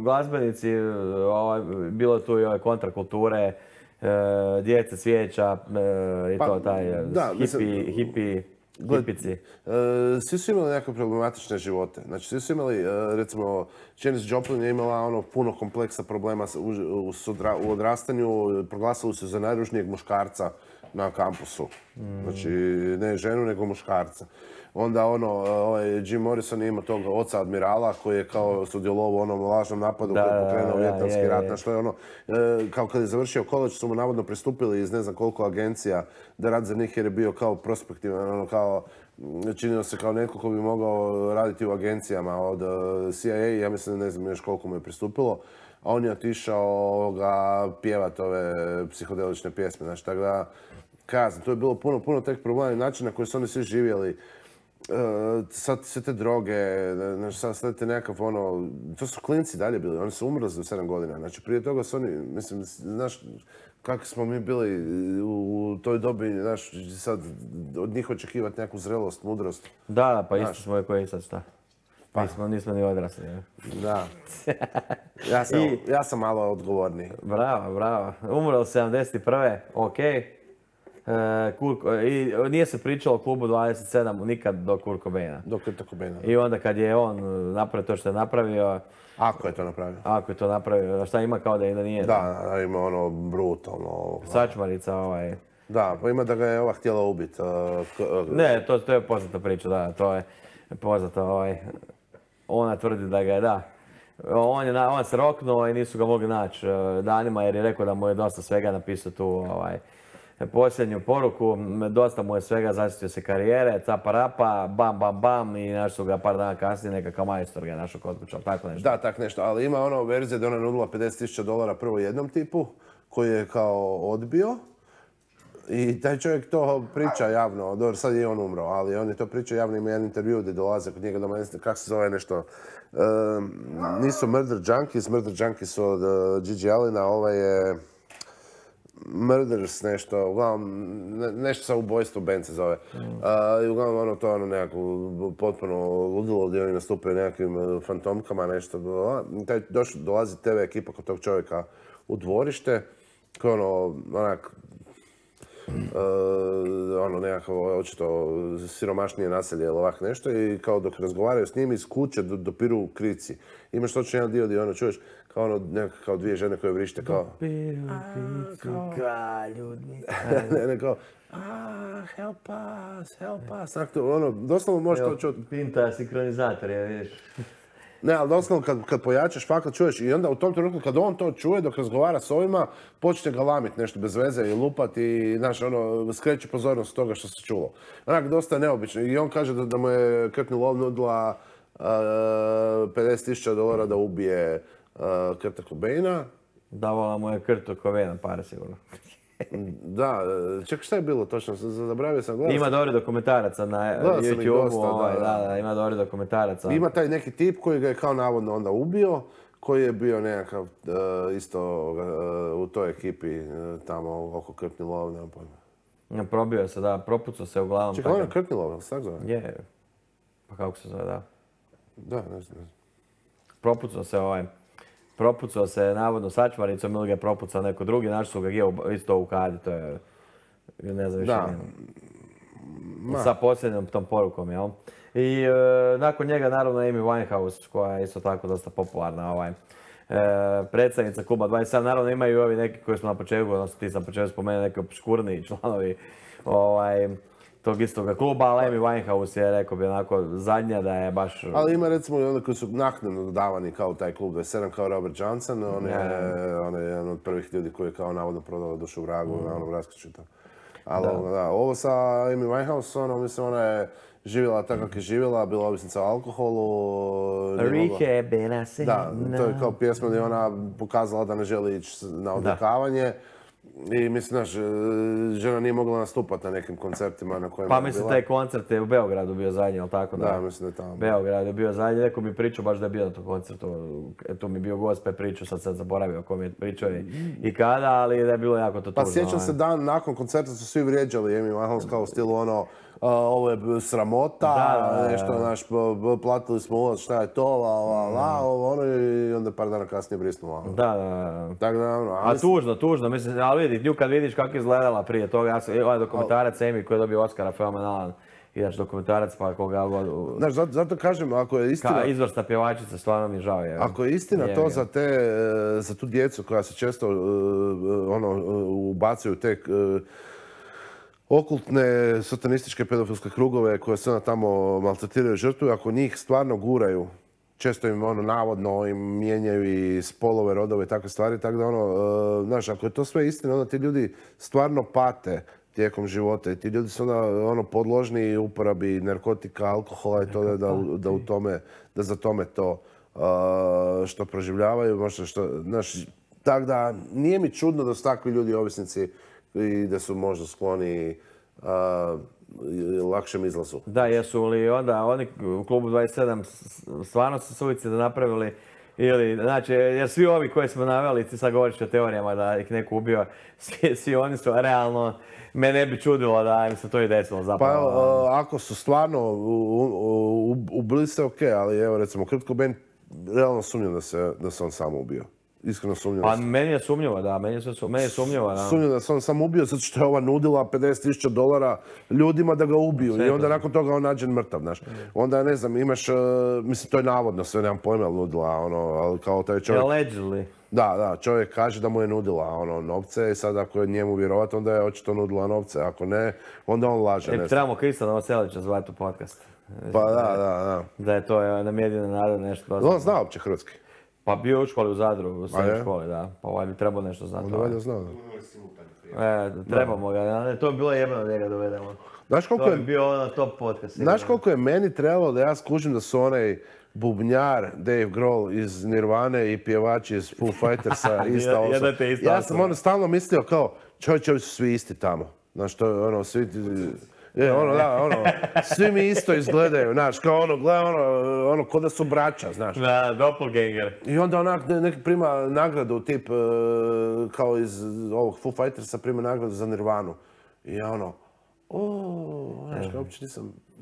glazbenici, bilo tu i ove kontrakulture, djece cvijeća i to taj hipici. Svi su imali nekakve problematične živote. Znači, svi su imali, recimo, Janis Joplin je imala puno kompleksa problema u odrastanju. Proglasili su za najružnijeg muškarca na kampusu. Znači, ne ženu, nego muškarca. Onda Jim Morrison je imao tog oca admirala koji je kao sudjelovao u onom lažnom napadu koji je pokrenuo Vijetnamski rat. Znači, to je kao kad je završio koledž su mu navodno pristupili iz ne znam koliko agencija da radi za njih jer je bio kao prospektivan, kao činio se kao netko ko bi mogao raditi u agencijama od CIA, ja mislim ne znam još koliko mu je pristupilo, a on je otišao pjevat ove psihodelične pjesme. Znači, tako da, kazam, to je bilo puno tek problema i načina na koji su oni svi živjeli. Sad sve te droge, sad te nekakav to su klinci dalje bili, oni su umrli za 7 godina. Znači, prije toga su oni, mislim, znaš, kako smo mi bili u toj dobi, znaš, sad od njih očekivati neku zrelost, mudrost. Da, pa isto smo koji sad šta. Nismo ni odrasli. Da. Ja sam malo odgovorniji. Bravo. Umrlo 71. okej. I nije se pričalo o klubu 27 nikad do Kurt Cobaina. I onda kad je on napravio to što je napravio... Ako je to napravio. Šta ima kao da nije? Da, ima brutalno... Sačmarica Da, pa ima da ga je htjela ubiti. Ne, to je poznata priča, da. To je poznata Ona tvrdi da ga je, da. On se roknuo i nisu ga mogli naći danima jer je rekao da mu je dosta svega napisao tu posljednju poruku. Dosta mu je svega, zasjetio se karijere, capa rapa, bam i našli su ga par dana kasnije, nekakav majstor ga je našao kod kuća, tako nešto. Da, tak nešto, ali ima verzija da ona nudila $50,000 prvo jednom tipu koji je kao odbio. I taj čovjek to priča javno, dobro sad je on umro, ali on je to pričao javno, ima jedan intervju gdje dolaze kod njega doma, kako se zove nešto, nisu Murder Junkies su od Gigi Allena, ovaj je Murders nešto, uglavnom nešto sa ubojstvom band se zove. I uglavnom to nekako potpuno ludilo gdje oni nastupaju nekakvim fantomkama, nešto. Dolazi TV ekipa kod tog čovjeka u dvorište, koji onak nekako očito siromašnije naselje ili ovak nešto i kao dok razgovaraju s njim iz kuće dopiru krici. Imaš točno jedan dio gdje čuješ kao dvije žene koje vrište kao... Dopiru krici, ljudi. Ne, kao... help us. Doslovno možeš to čuti. Pinta sinkronizator, ja vidiš. Ne, ali doslovno kad pojačaš fakat čuješ i onda u tom trenutku kad on to čuje dok razgovara s ovima, počne ga lamit nešto bez veze i lupati i znaš, skreće pozornost toga što se čulo. Onak, dosta neobično. I on kaže da mu je Courtney Love nudila $50,000 da ubije Kurta Cobaina. Davala mu je Kurt Cobaina pare sigurno. Da, čekaj šta je bilo točno, zaboravio sam gledati. Ima dobri dokumentaraca na YouTube-u, da, ima dobri dokumentaraca. Ima taj neki tip koji ga je kao navodno onda ubio, koji je bio nekakav isto u toj ekipi tamo oko Courtney Love, nemam pojma. Probio se, da, propucao se uglavnom. Čekaj, on je Courtney Love, se tako zove? Je, pa kako se zove, da. Da, ne znam. Propucao se navodno sačmaricom ili ga je propucao neko drugi, našli su ga isto u kadi, to je, ne znam više. Sa posljednjom tom porukom, jel? I nakon njega naravno Amy Winehouse, koja je isto tako dosta popularna, predsjednica kluba 27. Naravno imaju i ovi neki koji smo na početku, odnosno ti sam na početku spomenuo, neki obskurniji članovi tog istoga kluba, ali Amy Winehouse je, rekao bi, onako zadnja da je baš... Ali ima recimo i onda koji su naknadno dodavani kao taj klub 27, kao Robert Johnson, on je jedan od prvih ljudi koji je kao navodno prodao dušu vragu, navodno raskočita. Ali da, ovo sa Amy Winehouse, mislim, ona je živjela tako kako je živjela, bila ovisnica o alkoholu. Rehab, da, to je kao pjesma gdje ona pokazala da ne želi ići na odvikavanje. I mislim, znaš, žena nije mogla nastupati na nekim koncertima na kojima je bila. Pa mislim, taj koncert je u Beogradu bio zadnji, ali tako da? Da, mislim da je tamo. Beograd je bio zadnji, neko mi pričao baš da je bio na tom koncertu. Tu mi je bio gost pa je pričao, sad zaboravio ko mi je pričao i kada, ali da je bilo jako to tužno. Pa sjećam se dan nakon koncerta su svi vrijeđali Amy Winehouse kao u stilu ono, ovo je sramota, nešto, znaš, platili smo ulaz, šta je to, ono i onda par dana kasnije brisnula. Da. Tako da, ono, a tužno, mislim, ali vidi, nju kad vidiš kako je izgledala prije toga, ovaj dokumentarac Amy koji je dobio Oscara, fenomenalan, inače dokumentarac pa koga god... Znaš, zato kažem, ako je istina... Izvrsna pjevačica, stvarno mi žao je. Ako je istina to za tu djecu koja se često ubacuju te okultne, satanističke, pedofilske krugove koje se onda tamo maltretiraju žrtvu, ako njih stvarno guraju, često im navodno im mijenjaju i spolove, rodove i takve stvari, tako da znaš, ako je to sve istina, onda ti ljudi stvarno pate tijekom života i ti ljudi su onda podložni uporabi narkotika, alkohola i to da za tome to što proživljavaju, možda što, znaš, tako da nije mi čudno da su takvi ljudi ovisnici i da su možda skloni lakšem izlazu. Da, jesu li onda oni u klubu 27 stvarno su suicida napravili ili, znači, jer svi ovi koje smo naveli, ti sad govoriš o teorijama da ih neko ubio, svi oni su realno, me ne bi čudilo da im se to i desilo zapravo. Pa ako su stvarno ubili se, okej, ali evo recimo Kurt Cobain, realno sumnjam da se on sam ubio. Iskreno sumnjam. Pa meni je sumnjivo, da, meni je sumnjivo, da. Sumnjam da se on sam ubio zato što je ova nudila $50,000 ljudima da ga ubiju i onda nakon toga on nađen mrtav, znaš. Onda, ne znam, imaš, mislim, to je navodno, sve nemam pojma, nudila, ali kao taj čovjek... Allegedly. Da, čovjek kaže da mu je nudila novce i sad ako je njemu vjerovat, onda je očito nudila novce, ako ne, onda on laže. Trebamo Krista Novoselića zvati u podcast. Pa da. Da je to nam jedina nada nešto. On zna uopće hrvatski. Pa bio je u školi u Zadru, u srednjoj školi, da. Pa ovaj bi trebao nešto znati. Onda valjda znao, da. Trebamo ga, to bi bilo jebeno da ga dovedemo. To bi bio top podcast. Znaš koliko je meni trebalo da ja skužim da su onaj bubnjar Dave Grohl iz Nirvane i pjevači iz Foo Fightersa ista osoba. Ja sam stalno mislio kao, čovječe, ovi su svi isti tamo. Znaš, to je svi... svi mi isto izgledaju, znaš, kao gledaj ko da su braća, znaš. Da, doppelganger. I onda onak neki prima nagradu, tip, kao iz ovog Foo Fightersa prima nagradu za Nirvanu. I ja znaš, uopće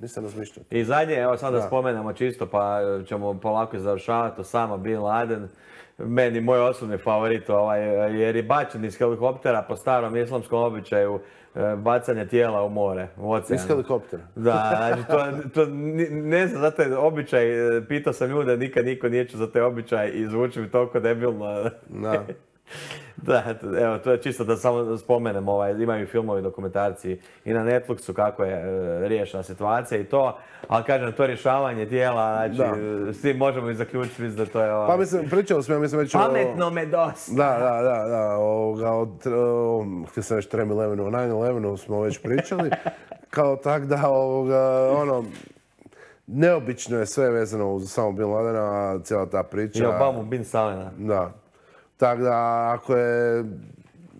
nisam razmišljao. I zadnje, evo sad da spomenemo čisto, pa ćemo polako završavati, Osama Bin Laden. Meni moj osobni favorit, jer je bačen iz helikoptera po starom islamskom običaju bacanja tijela u more, u oceanu. Iz helikoptera? Da, znači to ne znam, zato je običaj, pitao sam ljude, nikad niko nije čuo za taj običaj i zvuči mi toliko debilno. Da. Da, evo, to je čisto da samo spomenem, imaju filmovi, dokumentarci i na Netflixu kako je riješena situacija i to, ali kažem, to rješavanje tijela, znači, svi možemo i zaključiti, mislim da to je... Pa mislim, pričali smo, ja mislim već... Pametno me dosta! Da, htio sam već 3/11, o 9/11 smo već pričali, kao tak da, neobično je sve vezano uz samo Bin Ladena, cijela ta priča. I Obamu Bin Salena. Da. Tako da, ako je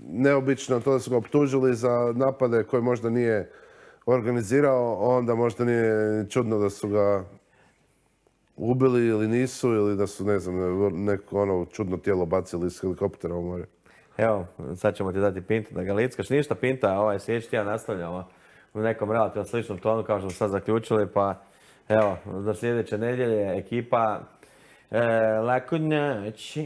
neobično to da su ga optužili za napade koje možda nije organizirao, onda možda nije čudno da su ga ubili ili nisu, ili da su, ne znam, neko čudno tijelo bacili iz helikoptera u more. Evo, sad ćemo ti dati Pintu da ga lickaš. Ništa, Pinta, sljedeći tjedan nastavljamo u nekom relativno sličnom tonu, kao što smo sad zaključili, pa evo, do sljedeće nedjelje ekipa Laku noć.